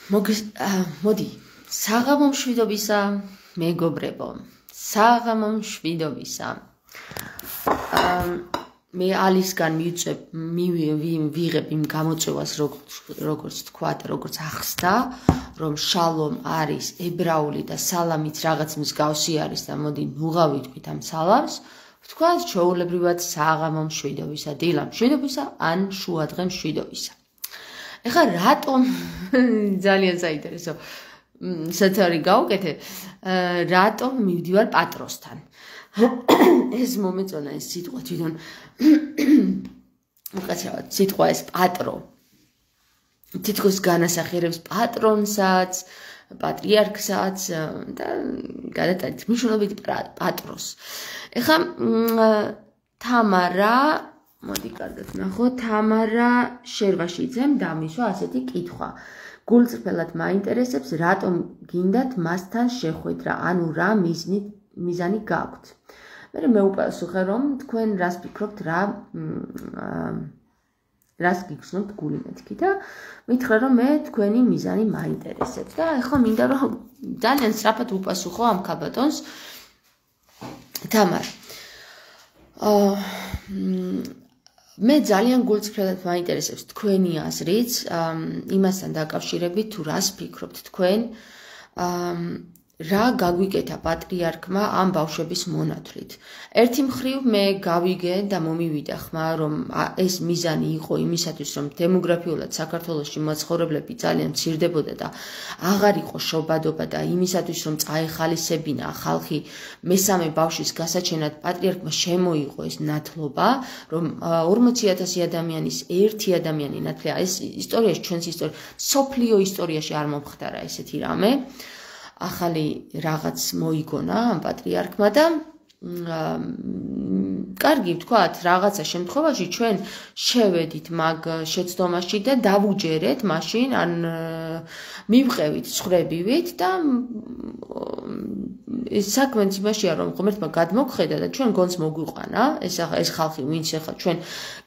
მოდი, საღამო მშვიდობისა, მეგობრებო, საღამო მშვიდობისა. მე ალისგან ვიღებ იმ გამოწვევას, როგორც თქვა და როგორც ახსნა, რომ შალომ არის ებრაული და სალამით რაღაც მსგავსი არის და მოდი ნუღა ვიტყვით ამ სალამს. ვთქვათ ჩვეულებრივად საღამო მშვიდობისა, დილა მშვიდობისა ან შუადღე მშვიდობისა. ეხლა რატომ ძალიან საინტერესო სათავე გავუკეთე, რატომ მივდივარ პატროსთან. ეს მომეწონა ეს სიტყვა თვითონ უკაცრავად სიტყვა ეს პატრო. თითქოს განასახიერებს პატრონსაც, პატრიარქსაც და გადატანით მნიშვნელობით პატროს. ეხლა თამარა მოდი კარგად ნახო, თამარა შერვაშიძემ დამისვა ასეთი კითხვა. გულწრფელად მაინტერესებს, რატომ გინდათ მასთან შეხვედრა, ანუ რა მიზანი გაქვთ. მე მეუპასუხე, რომ თქვენ რას ფიქრობთ, რას გიგრძნობთ გული მეთქი და მითხრა, რომ მე თქვენი მიზანი მაინტერესებს და ეხლა მინდა რომ ძალიან სწრაფად უპასუხო ამ ქალბატონს. თამარ მე ძალიან გულწრფელად მაინტერესებს თქვენი აზრიც იმასთან დაკავშირებით, თუ რას ფიქრობთ თქვენ, რა გაგვიკეთა პატრიარქმა ამ ბავშვების მონათვლით. ერთი მხრივ მე გავიგე და მომივიდა ხმა, რომ ეს მიზანი იყო იმისათვის, რომ დემოგრაფიულად საქართველოში მაცხოვრებლები ძალიან მცირდებოდა და აღარ იყო შობადობა და იმისათვის, რომ წაეხალისებინა ხალხი მესამე ბავშვის გასაჩენად პატრიარქმა შემოიღო ეს ნათლობა, რომ 40,000 ადამიანის ერთი ადამიანი ნათლია. ეს ისტორიაში, ჩვენს სოფლიო ისტორიაში არ მომხდარა ესეთი რამე. ახალი რაღაც მოიგონა ამ პატრიარქმა და კარგი ვთქვათ, რაღაცა შემთხვევაში ჩვენ შევედით მაგ შეცდომაში და დავუჯერეთ მაშინ, ან მივყევით ცხრებივით და საქმეც იმაშია, რომ ღმერთმა გადმოგხედა და ჩვენ გონს მოგვიყვანა, ეს ხალხი ვინც ახლა ჩვენ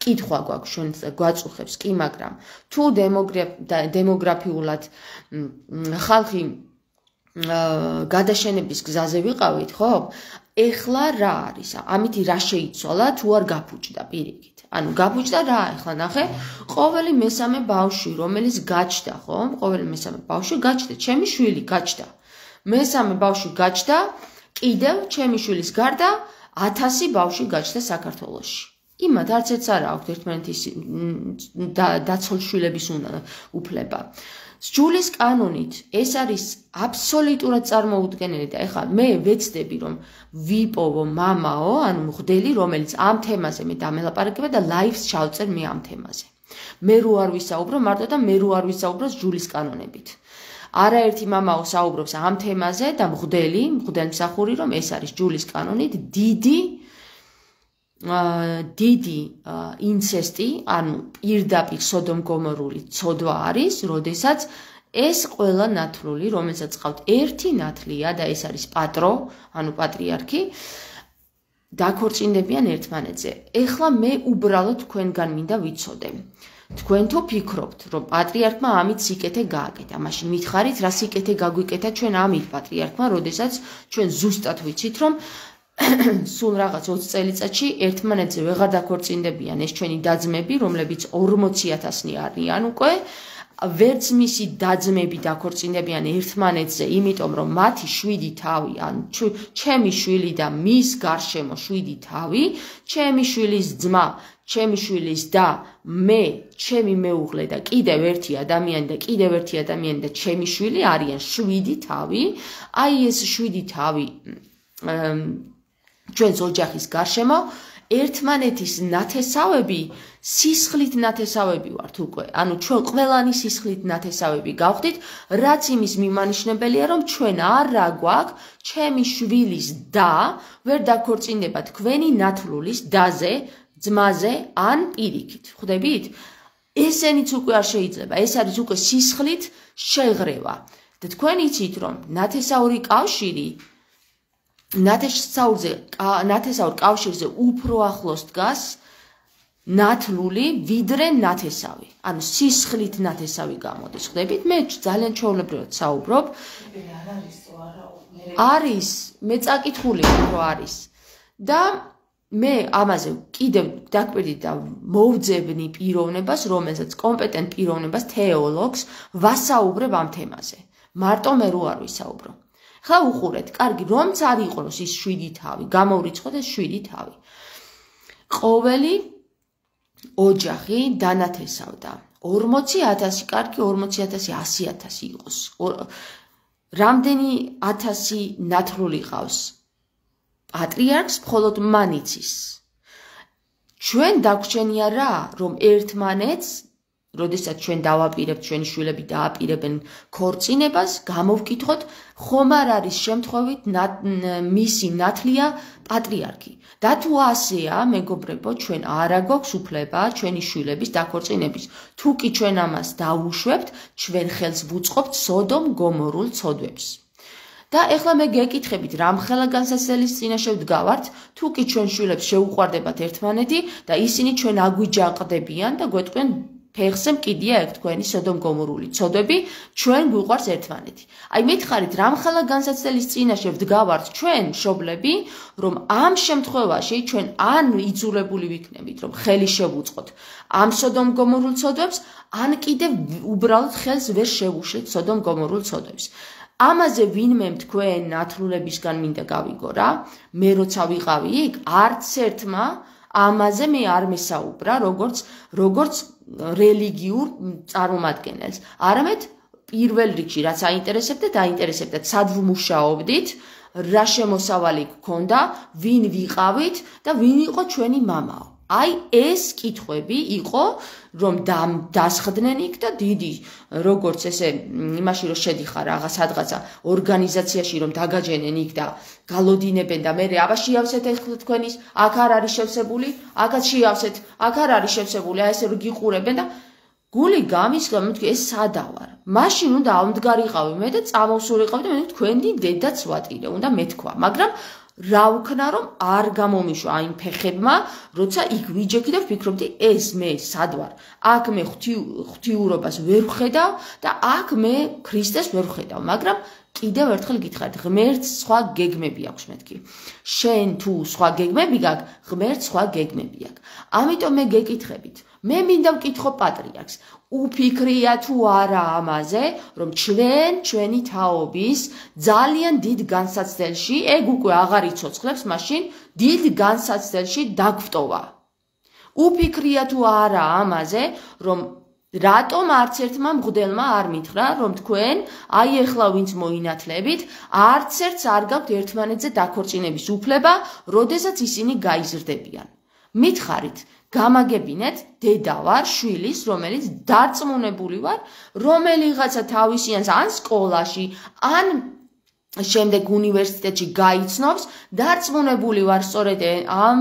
კითხვა გვაქვს, ჩვენ გვაწუხებს კი, მაგრამ თუ დემოგრაფიულად ხალხი გადაშენების გზაზე ვიყავით, ხო? ეხლა რა არის? ამით რა შეიცვალა, თუ არ გაფუჭდა პირიქით. ანუ გაფუჭდა რა? ეხლა ნახე, ყოველი მესამე ბავშვი, რომელიც გაჩნდა, ხო? ყოველი მესამე ბავშვი გაჩნდა, ჩემი შვილი გაჩნდა. მესამე ბავშვი გაჩნდა, კიდევ ჩემი შვილის გარდა 1000 ბავშვი გაჩნდა საქართველოში. იმათ არც ერთს არ აქვს ერთმანეთის დაცულ შვილების უფლება. სჯულის კანონით ეს არის აბსოლუტურად წარმოუდგენელი და ეხლა მე ვეცდები, რომ ვიპოვო მამაო, ანუ მღვდელი, რომელიც ამ თემაზე მე დამელაპარაკება და ლაივს ჩავწერ მე ამ თემაზე. მე რო არ ვისაუბრო მარტო და მე რო არ ვისაუბრო სჯულის კანონებით. არაერთი მამაო საუბრობს ამ თემაზე და მღვდელმსახური, რომ ეს არის სჯულის კანონით დიდი ინცესტი, ანუ პირდაპირ სოდომ-გომორული ცოდვა არის, როდესაც ეს ყველა ნათლული, რომელსაც ყავთ ერთი ნათლია და ეს არის პატრო, ანუ პატრიარქი, დაქორწინდებიან ერთმანეთზე. ეხლა მე უბრალოდ თქვენგან მინდა ვიცოდე. თქვენ თუ ფიქრობთ, რომ პატრიარქმა ამით სიკეთე გააკეთა, მაშინ მითხარით, რა სიკეთე გაგვიკეთა ჩვენ ამით პატრიარქმა, როდესაც ჩვენ ზუსტად ვიცით, რომ სულ რაღაც 20 წელიწადში ერთმანეთზე ვეღარ დაქორწინდებიან ეს ჩვენი დაძმები, რომლებიც 40,000-ნი არიან უკვე, ვერც მისი დაძმები დაქორწინდებიან ერთმანეთზე, იმიტომ რომ მათი 7 თავი, ან ჩემი შვილი და მის გარშემო 7 თავი, ჩემი შვილის ძმა, ჩემი შვილის და მე, ჩემი მეუღლე და კიდევ ერთი ადამიანი და კიდევ ერთი ადამიანი და ჩემი შვილი არიან 7 თავი. აი ეს 7 თავი ჩვენს ოჯახის გარშემო ერთმანეთის ნათესავები, სისხლით ნათესავები ვართ უკვე. ანუ ჩვენ ყველანი სისხლით ნათესავები გავხდით, რაც იმის მიმანიშნებელია, რომ ჩვენ არა გვაქვს ჩემი შვილის და ვერ დაქორწინდება თქვენი ნათლულის დაზე, ძმაზე ან პირიქით. ხვდებით? ესენიც უკვე არ შეიძლება. ეს არის უკვე სისხლით შეღრევა. და თქვენ იცით, რომ ნათესაური კავშირი ნათესაურ კავშირზე უფრო ახლოს დგას ნათლული ვიდრე ნათესავი. ანუ სისხლით ნათესავი გამოდის. ხვდებით? მე ძალიან ჩვეულებრივად საუბრობ. არის, მე წაკითხული რო არის. და მე ამაზე კიდევ დაკვირდი და მოვძებნი პიროვნებას, რომელსაც კომპეტენტ პიროვნებას, თეოლოგს ვასაუბრებ ამ თემაზე. მარტო მე რო არ ვისაუბრო. ხა უყურეთ, კარგი, რომც არ იყოს ის 7 თავი, გამოვრიცხოთ ეს 7 თავი. ყოველი ოჯახი დანათესავდა 40,000, კარგი 40,000, 100,000 იყოს. რამდენი 1000 ნათლული ყავს? პატრიარქს მხოლოდ მან იცის. ჩვენ დაგვჩენია რა, რომ ერთმანეთს, როდესაც ჩვენ დავაპირებთ, ჩვენი შვილები დააპირებენ ქორწინებას, გამოვკითხოთ, ხომ არ არის შემთხვევით მისი ნათლია პატრიარქი. და თუ ასეა, მეგობრებო, ჩვენ არა გვაქვს უფლება ჩვენი შვილების დაქორწინების. თუ კი ჩვენ ამას დავუშვებთ, ჩვენ ხელს ვუწყობთ სოდომ გომორულ ცოდვებს. და ეხლა მე გეკითხებით, რამხელა განსაცდელის წინაშე ვდგავართ, თუ კი ჩვენ შვილებს შეუყვარდებათ ერთმანეთი და ისინი ჩვენ აგვიჯაყდებიან და გვეტყვიან ფეხზე მკიდია ეგ თქვენი სოდომ გომორული ცოდვები, ჩვენ გვიყვარს ერთმანეთი. აი მითხარით, რამხელა განსაცდელის წინაშე ვდგავართ ჩვენ მშობლები, რომ ამ შემთხვევაში ჩვენ ან იძულებული ვიქნებით, რომ ხელი შევუწყოთ ამ სოდომ გომორულ ცოდვებს, ან კიდევ უბრალოდ ხელს ვერ შევუშლით სოდომ გომორულ ცოდვებს. ამაზე ვინმე თქვენ ნათლულებისგან მინდა გავიგო რა, მე როცა ვიყავი იქ, არც ერთმა ამაზე მე არ მესაუბრა, როგორც რელიგიურ წარმომადგენელს. არამედ პირველ რიგში რაც აინტერესებდა, დაინტერესებდა, სად ვმუშაობდით, რა შემოსავალი გქონდა, ვინ ვიყავით და ვინ იყო ჩვენი მამაო. აი ეს კითხვები იყო, რომ დასხდნენ იქ და დიდი, როგორც ესე იმაში რომ შედიხარ რაღაცა ორგანიზაციაში რომ დაგაჯენენ იქ და გალოდინებენ და მე აბა შეავსეთ ეხლა თქვენის, აქ არ არის შევსებული, აქაც შეავსეთ, აქ არ არის შევსებული, აი ესე რომ გიყურებენ და გული გამისხა, მეთქი ეს სადავარ. მაშინ უნდა ავმდგარიყავი მე და წამოვსულიყავი და მე თქვენი დედაც ვატირე, უნდა მეთქვა, მაგრამ რა ვქნა რომ არ გამომიშვა აიმ ფეხებმა, როცა იქ ვიჯექი და ვფიქრობდი ეს მე სად ვარ. აქ მე ღვთიურობას ვერ ვხედავ და აქ მე ქრისტეს ვერ ვხედავ, მაგრამ კიდევ ერთხელ გითხარით, ღმერთს სხვა გეგმები აქვს მეთქი. შენ თუ სხვა გეგმები გაქვს, ღმერთს სხვა გეგმები აქვს. ამიტომ მე გეკითხებით, მე მინდა ვკითხო პატრიარქს. უფიქრია თუ არა ამაზე, რომ ჩვენი თაობის ძალიან დიდ განსაცდელში, ეგ უკვე აღარ იცოცხლებს, მაშინ დიდ განსაცდელში დაგვტოვა. უფიქრია თუ არა ამაზე, რომ რატომ არც ერთმა მღვდელმა არ მითხრა, რომ თქვენ, აი ეხლა ვინც მოინათლებით, არც ერთს არ გაქვთ ერთმანეთზე დაქორწინების უფლება, როდესაც ისინი გაიზრდებიან. მითხარით, გამაგებინეთ, დედა ვარ, შვილის, რომელიც დარწმუნებული ვარ, რომელიღაცა თავისიანს ან სკოლაში, ან შემდეგ უნივერსიტეტში გაიცნობს, დარწმუნებული ვარ, სწორედ ამ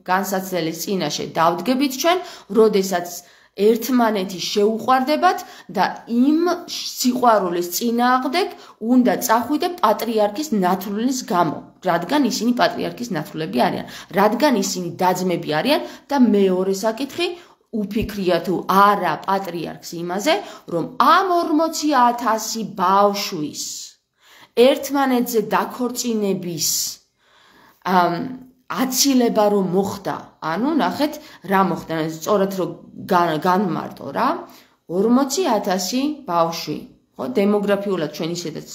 განსაცდელის წინაშე დავდგებით ჩვენ, როდესაც ერთმანეთი შეუყვარდებათ და იმ სიყვარულის წინააღმდეგ უნდა წახვიდე პატრიარქის ნათლულის გამო, რადგან ისინი პატრიარქის ნათლულები არიან, რადგან ისინი დაძმები არიან და მეორე საკითხი უფიქრია თუ არა პატრიარქს იმაზე, რომ ამ 40,000 ბავშვის ერთმანეთზე დაქორწინების აცილება რომ მოხდა, ანუ ნახეთ რა მოხდა, სწორად რომ განმარტო რა, 40,000 ბავშვი, ხო, დემოგრაფიულად ჩვენ ისედაც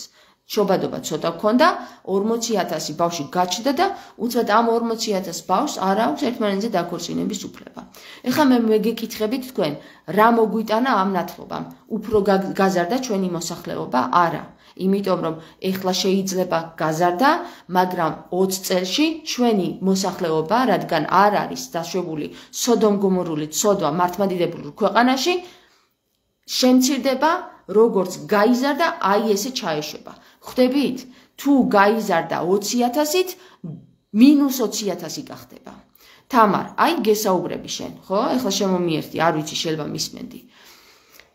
შობადობა ცოტა გქონდა, 40,000 ბავშვი გაჩნდა და უცბად ამ 40,000 ბავშვს არ აქვს ერთმანეთზე დაქორწინების უფლება. ეხლა მე გეკითხებით თქვენ, რა მოგვიტანა ამ ნათლობამ? უფრო გაზარდა ჩვენი მოსახლეობა? არა. იმიტომ რომ ეხლა შეიძლება გაზარდა, მაგრამ 20 წელში ჩვენი მოსახლეობა, რადგან არ არის დაშვებული სოდომ გომორული ცოდვა მართლმადიდებლურ ქვეყანაში, შემცირდება, როგორც გაიზარდა, აი ესე ჩაეშვება. ხვდებით? თუ გაიზარდა 20,000-ით, მინუს 20,000 გახდება. თამარ, აი გესაუბრები შენ, ხო? ეხლა შემომიერთდი, არ ვიცი, შეიძლება მისმენდი.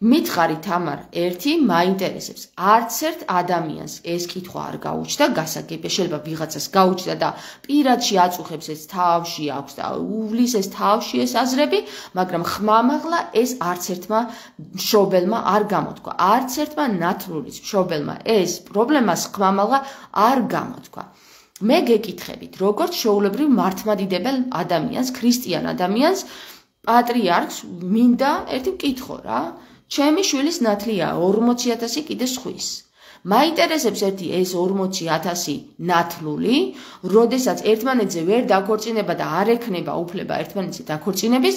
მითხარი თამარ, ერთი მაინტერესებს. არც ერთ ადამიანს ეს კითხვა არ გაუჩნდა გასაგებია, შეიძლება ვიღაცას გაუჩნდა და პირადში აწუხებს ეს თავში აქვს და უვლის ეს თავში ეს აზრები, მაგრამ ხმამაღლა ეს არც ერთმა მშობელმა არ გამოთქვა. არც ერთმა ნათლურის მშობელმა ეს პრობლემას ხმამაღლა არ გამოთქვა. მე გეკითხებით, როგორც შეულებრივ მართლმადიდებელ ადამიანს, ქრისტიან ადამიანს, პატრიარქს მინდა ერთი მკითხო რა. ჩემი შვილის ნათლია 40,000 კიდე სხვის. მაინტერესებს ერთი ეს 40,000 ნათლული, როდესაც ერთმანეთზე ვერ დაქორწინება და არ ექნება უფლება ერთმანეთზე დაქორწინების,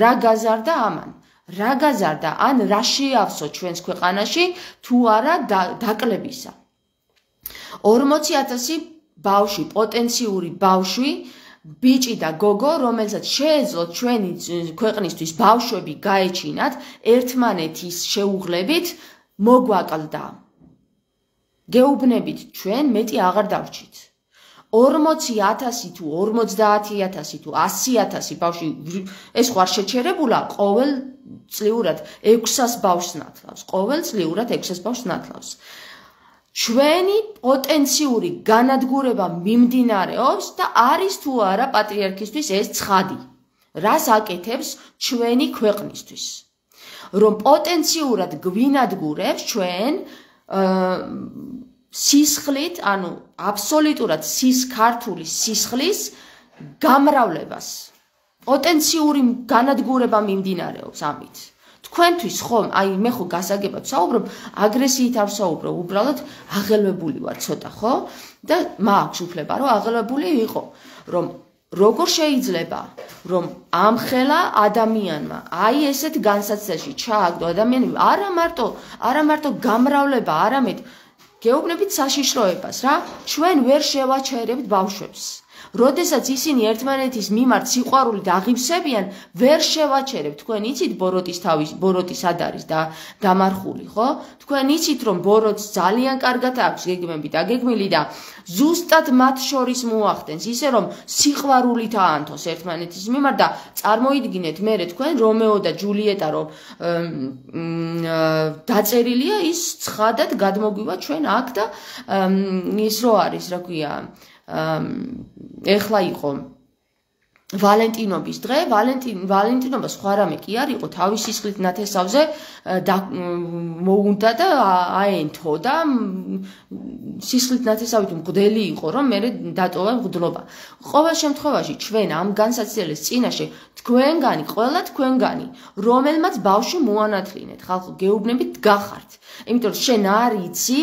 რა გაზარდა ამან? რა გაზარდა? ან რა შეავსო ჩვენს ქვეყანაში თუ არა დაკლებისა? 40,000 ბავშვი, პოტენციური ბავშვი, ბიჭი და გოგო, რომელსაც შეეძლოთ ჩვენი ქვეყნისთვის ბავშვები გაეჩინათ, ერთმანეთის შეუღლებით მოგვაკლდა. გეუბნებით ჩვენ მეტი აღარ დავრჩით. 40,000 თუ 50,000 თუ 100,000 ბავშვი ეს ხო არ შეჩერებულა ყოველ წლიურად 600 ბავშვს ნათლავს. ყოველ წლიურად 600 ბავშვს ნათლავს. ჩვენი პოტენციური განადგურება მიმდინარეობს და არის თუ არა პატრიარქისთვის ეს ცხადი. რას აკეთებს ჩვენი ქვეყნისთვის? რომ პოტენციურად გვინადგურებს ჩვენ სისხლით, ანუ აბსოლუტურად ქართული სისხლის გამრავლებას. პოტენციური განადგურება მიმდინარეობს ამით. თქვენთვის ხომ, მე ხო გასაგებად საუბრობ, აგრესიით არ საუბრობ, უბრალოდ აღელვებული ვარ ცოტა, ხო? და მაქვს უფლება, რომ აღელვებული იყო, რომ როგორ შეიძლება, რომ ამხელა ადამიანმა აი ესეთ განსაცდელში ჩააგდო ადამიანები, არა მარტო გამრავლება, არამედ გეუბნებით საშიშროებას რა, ჩვენ ვერ შევაჩერებთ ბავშვებს. როდესაც ისინი ერთმანეთის მიმართ სიყვარულით აღივსებიან, ვერ შევაჩერებთ. თქვენ იცით ბოროტი სად არის და დამარხული, ხო? თქვენ იცით რომ ბოროტს ძალიან კარგად აქვს გეგმები და გეგმილი და ზუსტად მათ შორის მოახდენს, ისე რომ სიყვარულით აანთოს ერთმანეთის მიმართ და წარმოიდგინეთ მერე თქვენ რომეო და ჯულიეტა რომ დაწერილია ის ცხადად გადმოგვივა ჩვენ აქ და ის რო არის, რა ქვია, ეხლა იყო ვალენტინობის დღე, ვალენტინობა სხვა რამე კი არ იყო, თავის სისხლით ნათესავზე მოუნდა და აენთო და სისხლით ნათესავით მღვდელი იყო, რომ მე დატოვა მღვდლობა. ყოველ შემთხვევაში ჩვენ ამ განსაცდელის წინაშე ყველა თქვენგანი, რომელმაც ბავშვი მოანათლინეთ, ხალხო გეუბნებით გახართ. იმიტომ რომ შენ არ იცი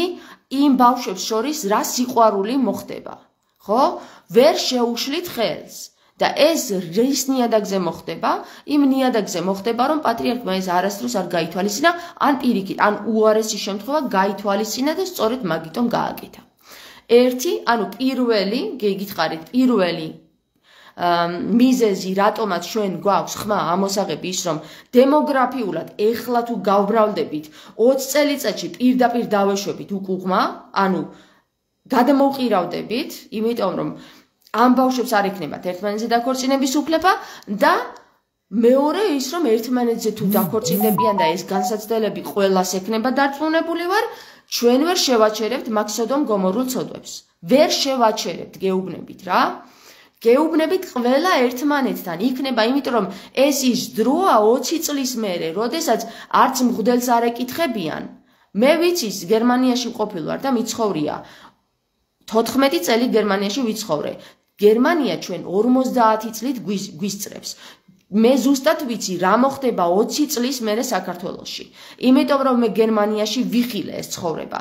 იმ ბავშვებს შორის რა სიყვარული მოხდება. ხო? ვერ შეუშლით ხელს და ეს რის ნიადაგზე მოხდება? იმ ნიადაგზე მოხდება, რომ პატრიარქმა ეს არასდროს არ გაითვალისწინა, ან პირიქით, ან უარესი შემთხვევა გაითვალისწინა და სწორედ მაგიტომ გააკეთა. ანუ გითხარით, პირველი მიზეზი, რატომაც ჩვენ გვაქვს ხმა ამოსაღები ის, რომ დემოგრაფიულად ეხლა თუ გავბრალდებით 20 წელიწადში პირდაპირ დავეშვებით უკუღმა, ანუ გადმოვყირავდებით, იმიტომ რომ ამ ბავშვებს არ ექნებათ ერთმანეთზე დაქორწინების უფლება და მეორე ის, რომ ერთმანეთზე თუ დაქორწინდებიან და ეს განსაცდელები ყველას ექნება დარწმუნებული ვარ, ჩვენ ვერ შევაჩერებთ მაგ სოდომ გომორულ ცოდვებს. ვერ შევაჩერებთ, გეუბნებით რა. გეუბნებით ყველა ერთმანეთთან იქნება, იმიტომ რომ ეს ის დროა 20 წლის მერე, როდესაც არც მღვდელს არ ეკითხებიან. მე ვიცი, გერმანიაში მყოფილ ვარ და მიცხოვრია 14 წელი გერმანიაში ვიცხოვრე. გერმანია ჩვენ 50 წლით გვისწრებს. მე ზუსტად ვიცი რა მოხდება 20 წლის მერე საქართველოში. იმიტომ რომ მე გერმანიაში ვიხილე ეს ცხოვრება.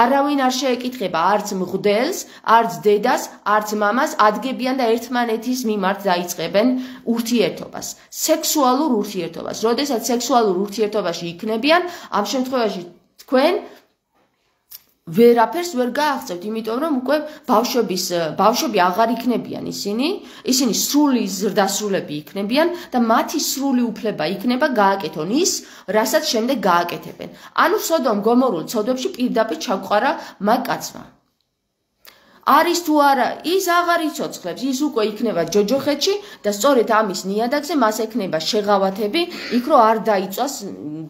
არავინ არ შეეკითხება არც მღვდელს, არც დედას, არც მამას, ადგებიან და ერთმანეთის მიმართ დაიწყებენ ურთიერთობას. სექსუალურ ურთიერთობას. როდესაც სექსუალურ ურთიერთობაში იქნებიან, ამ შემთხვევაში თქვენ ვერაფერს ვერ გააღწევთ, იმიტომ რომ უკვე ბავშვები აღარ იქნებიან ისინი სრული ზრდასრულები იქნებიან და მათი სრული უფლება იქნება გააკეთონ ის, რასაც შემდეგ გააკეთებენ. ანუ სოდომ გომორულ ცოდვებში პირდაპირ ჩაგვყარა მაგ კაცმა. არის თუ არა, ის აღარ იცოცხლებს, ის უკვე იქნება ჯოჯოხეთში და სწორედ ამის ნიადაგზე მას ექნება შეღავათები, იქ რომ არ დაიწვას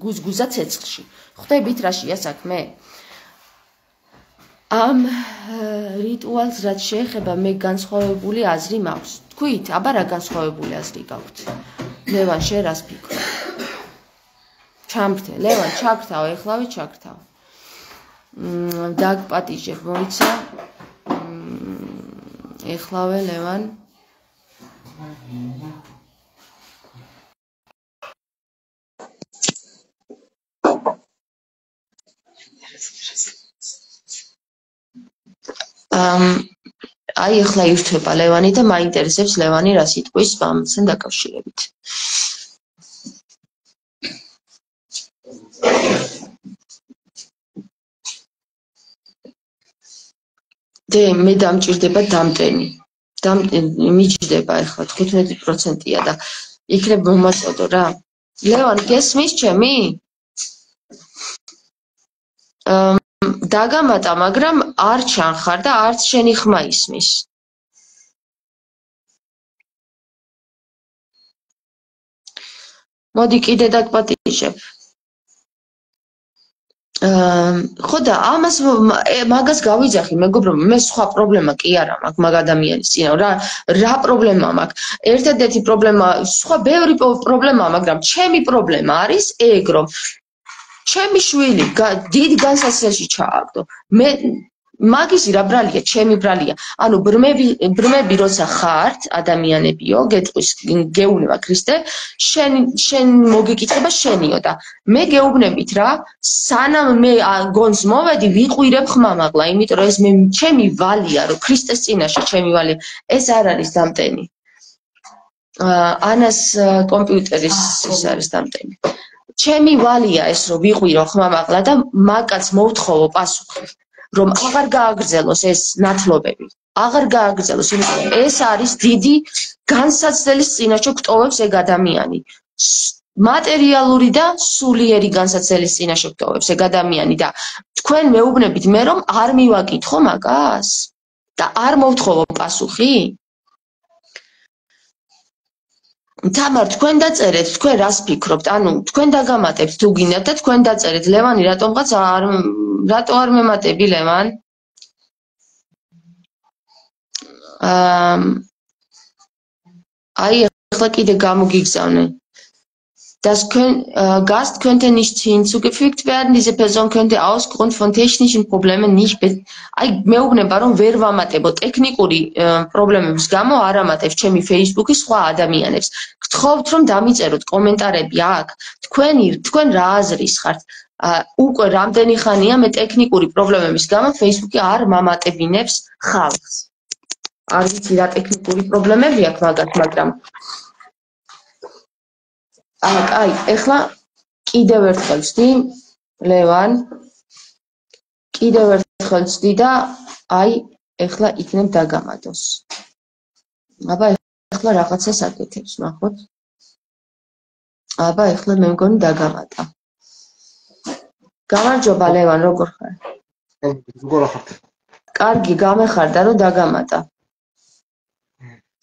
გუზგუზა ცეცხლში. ხვდებით რაშია საქმე? ამ რიტუალს რაც შეეხება მე განსხვავებული აზრი მაქვს. თქვით, აბა რა განსხვავებული აზრი გაქვთ? ლევან, შენ რას ფიქრობ? ჩამრთე, ლევან, ჩაგრთავ, ეხლავე ჩაგრთავ. დაგპატიჟებ, მოიცა. ეხლავე ლევან. აი ახლა ირთვება ლევანი და მაინტერესებს ლევანი რას იტყვის ამასთან დაკავშირებით. მე დამჭირდება დამტენი. მიჯდება ახლა 15%-ია და იქნებ მომაწოდო რა. ლევან, გესმის ჩემი? დაგამატა, მაგრამ არ ჩანხარ და არც შენი ხმა ისმის. მოდი კიდე დაგპატიჟებ. ხო და ამას მაგას გავიძახი, მეგობრებო, მე სხვა პრობლემა კი არა მაქვს მაგ ადამიანის წინააღმდეგ. რა პრობლემა მაქვს? ერთადერთი პრობლემა, სხვა ბევრი პრობლემაა, მაგრამ ჩემი პრობლემა არის ეგ, რომ ჩემი შვილი დიდ განსაცდელში ჩააგდო. მე მაგისი რა ბრალია, ჩემი ბრალია. ანუ ბრმები როცა ხართ, ადამიანებიო, გეტყვის, გეუბნება ქრისტე, შენ მოგეკითხება შენიო და მე გეუბნებით რა, სანამ მე გონს მოვედი, ვიყვირებ ხმამაღლა, იმიტომ რომ ეს მე ჩემი ვალია, რომ ქრისტეს წინაშე ჩემი ვალია. ეს არ არის დამტენი. ანას კომპიუტერის ის არის დამტენი. ჩემი ვალია ეს, რომ ვიყვირო ხმამაღლა და მაგაც მოვთხოვო პასუხი. რომ აღარ გააგრძელოს ეს ნათლობები, აღარ გააგრძელოს, იმიტომ რომ ეს არის დიდი განსაცდელის წინაშე გტოვებს ეგ ადამიანი. მატერიალური და სულიერი განსაცდელის წინაშე გტოვებს ეგ ადამიანი და თქვენ მეუბნებით მე რომ არ მივაკითხო მაგას და არ მოვთხოვო პასუხი? თამარ, თქვენ დაწერეთ, თქვენ რას ფიქრობთ? ანუ თქვენ დაგამატებთ თუ გინდათ და თქვენ დაწერეთ. ლევანი, რატო არ მემატები ლევან? აი, ახლა კიდე გამოგიგზავნე. Das Gast könnte nicht hinzugefügt werden. Diese Person könnte ausgrund von technischen Problemen nicht. აი, მეუბნება რომ ვერ ვამატებო ტექნიკური პრობლემების გამო არ ამატებს ჩემი Facebook-ის სხვა ადამიანებს. გთხოვთ რომ დამიწეროთ კომენტარები აქ. თქვენ რა აზრის ხართ? უკვე რამდენი ხანია მე ტექნიკური პრობლემების გამო Facebook-ი არ მამატებინებს ხალხს. არ ვიცი რა ტექნიკური პრობლემები აქვს მაგათ, მაგრამ აი, ეხლა კიდევ ერთხელ ვცდი, ლევან, კიდევ ერთხელ ვცდი და აი, ეხლა იქნებ დაგამატოს. აბა, ეხლა რაღაცას აკეთებს, ნახოთ. აბა, ეხლა მე მგონი დაგამატა. გამარჯობა, ლევან, როგორ ხარ? როგორ ხართ? კარგი, გამეხარდა რომ დაგამატა.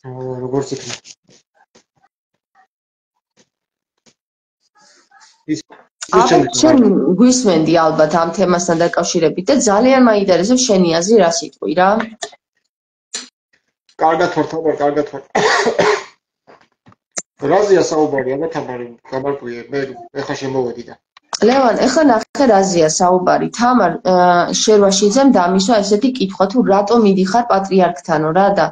როგორც იქნება. შენ გვისმენდი ალბათ ამ თემასთან დაკავშირებით და ძალიან მაინტერესებს შენი აზრი რას იტყვი რა? კარგად ვარ, თამარ, კარგად ვარ. რაზეა საუბარი, აბა თამარი, გამარკვიე, მე ეხლა შემოვედი და. ლევან, ეხლა ნახე რაზეა საუბარი. თამარ, შერვაშიძემ დამისვა ესეთი კითხვა, თუ რატო მიდიხარ პატრიარქთანო რა და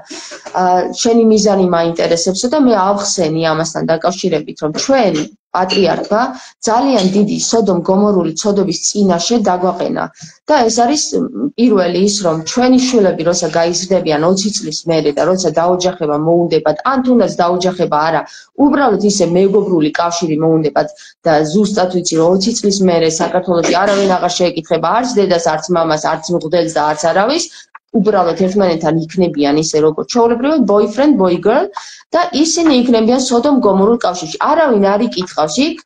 შენი მიზანი მაინტერესებსო და მე ავხსენი ამასთან დაკავშირებით, რომ ჩვენ პატრიარქმა ძალიან დიდი სოდომ-გომორული ცოდობის წინაშე დაგვაყენა და ეს არის პირველი ის, რომ ჩვენი შვილები როცა გაიზრდებიან 20 წლის მერე და როცა დაოჯახება მოუნდებათ, ან თუნდაც დაოჯახება არა, უბრალოდ ისე მეგობრული კავშირი მოუნდებათ და ზუსტად ვიცი, რომ 20 წლის მერე საქართველოში არავინ აღარ შეეკითხება არც დედას, არც მამას, არც მღვდელს და არც არავის, უბრალოდ ერთმანეთთან იქნებიან ისე როგორც ჩვეულებრივად boyfriend, boy girl და ისინი იქნებიან სოდომ-გომორულ კავშირში. არავინ არ იკითხავს იქ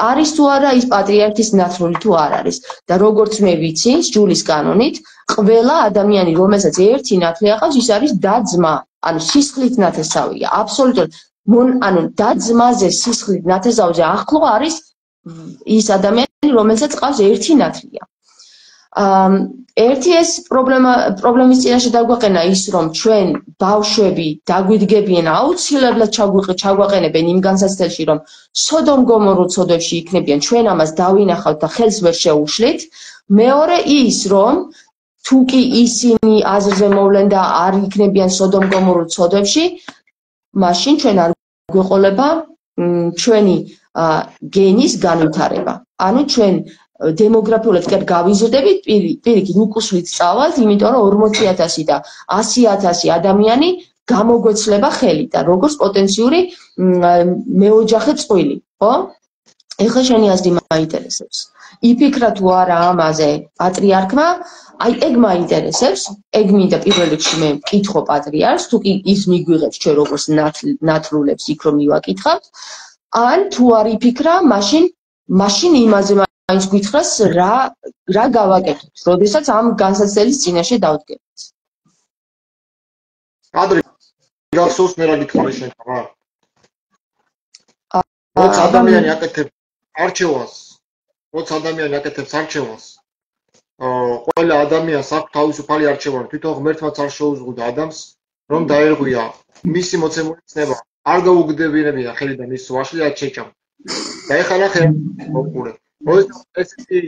არის თუ არა ის პატრიარქის ნაცვლი თუ არ არის და როგორც მე ვიცი ჯულის კანონით ყველა ადამიანი რომელსაც ერთი ნათლი აყავს ის არის და-ძმა ანუ სისხლით ნათესავია აბსოლუტურად ანუ და-ძმაზე სისხლით ნათესავზე ახლო არის ის ადამიანი რომელსაც ყავს ერთი ნათლია ერთი ეს პრობლემის წინაშე დაგვაყენა ის რომ ჩვენ ბავშვები დაგვიდგებიან აუცილებლად ჩაგვაყენებენ იმ განსაცდელში რომ სოდომ გომორულ ცოდვებში იქნებიან ჩვენ ამას დავინახავთ და ხელს ვერ შეუშლით მეორე ის რომ თუ კი ისინი აზრზე მოვლენ და არ იქნებიან სოდომ გომორულ ცოდვებში მაშინ ჩვენ არ გვეყოლება ჩვენი გენის განვითარება ანუ ჩვენ დემოგრაფიულად კი გავიზრდებით პირიქით უკუსლით წავალთ იმიტომ რომ 40,000 და 100,000 ადამიანი გამოგვეცლება ხელი და როგორც პოტენციური მეოჯახე წყვილი ხო ეხლა შენი აზრი მაინტერესებს იფიქრა თუ არა ამაზე პატრიარქმა აი ეგ მაინტერესებს ეგ მინდა პირველ რიგში მე მკითხო პატრიარქს თუ კი ის მიგვიღებს ჩვენ როგორც ნათლულებს იქ რომ მივაკითხავთ ან თუ არ იფიქრა მაშინ იმაზე მაინც გითხრას რა გავაკეთოთ როდესაც ამ განსაცდელის წინაშე დავდგებით ადრე გახსოვს მე რა გითხრა შენ რა როცა ადამიანი აკეთებს არჩევანს ყველა ადამიანს აქვს თავისუფალი არჩევანი თვითონ ღმერთმაც არ შეუზღუდა ადამიანს რომ დაერღვია მისი მოცემული ცნება არ გაუგდებინებია ხელიდან ის ვაშლი არ შეჭამ და ეხლა ნახე მოკურე ესეთი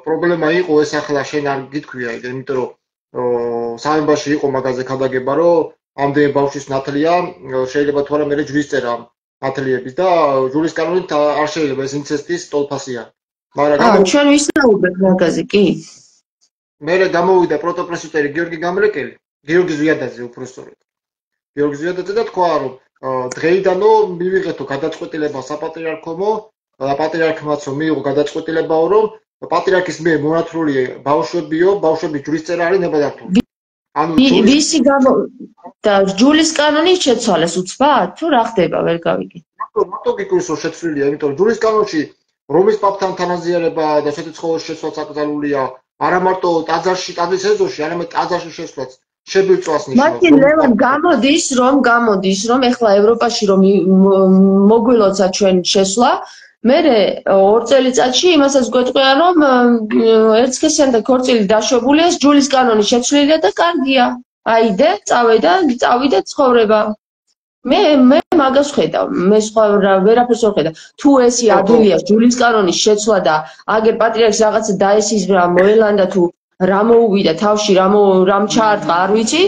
პრობლემა იყო ეს ახლა შენ არ გითქვია იმიტომ რომ სამებაში იყო მაგაზე ქადაგება რომ ამდენი ბავშვის ნათლია შეიძლება თუ არა მე ჯვრის წერა ნათლიების და ჯვრის კანონით არ შეიძლება ეს ინცესტის ტოლფასია მაგრამ ჩვენ ვისაუბრეთ მაგაზე კი მე გამოვიდა პროტოპრესვიტერი გიორგი ზვიადაძე უფრო სწორედ გიორგი ზვიადაძე და თქვა რომ დღეიდანო მივიღეთო გადაწყვეტილება საპატრიარქომო და პატრიარქმაც რომ მიიღო გადაწყვეტილებაო რომ პატრიარქის მიერ მონათლული ბავშვები ჯვრის წერა არის ნებადართული ანუ ვისი და ჯულის კანონი შეცვალეს უცბად თუ რა ხდება ვერ გავიგე მარტო გიკვირს რომ შეცვლილია იმიტომ რომ ჯულის კანონში რომის პაპთან თანაზიარება და შეთხოვის შეცვლაც აკრძალულია არა მარტო ტაძარში ტაძრის ეზოში არამედ ტაძარში შეცვლაც შებილწვას ნიშნავს მაშინ ლევან გამოდის რომ ეხლა ევროპაში რომ მოგვილოცა ჩვენ შესვლა მე 2 წელიწადში იმასაც გვეტყვია რომ ერთსქესიანი და ქორწილი დაშვებულია ჯულის კანონი შეცვლილია და კარგია აიდე წავიდე ცხოვრება მე მაგას ხედავ მე სხვა ვერაფერს ვერ ხედავ თუ ესი ადვილია ჯულის კანონის შეცვლა და აგერ პატრიარქს რაღაცა დაესიზმრა მოელანდა თუ რა მოუვიდა თავში რამ ჩაარტყა არ ვიცი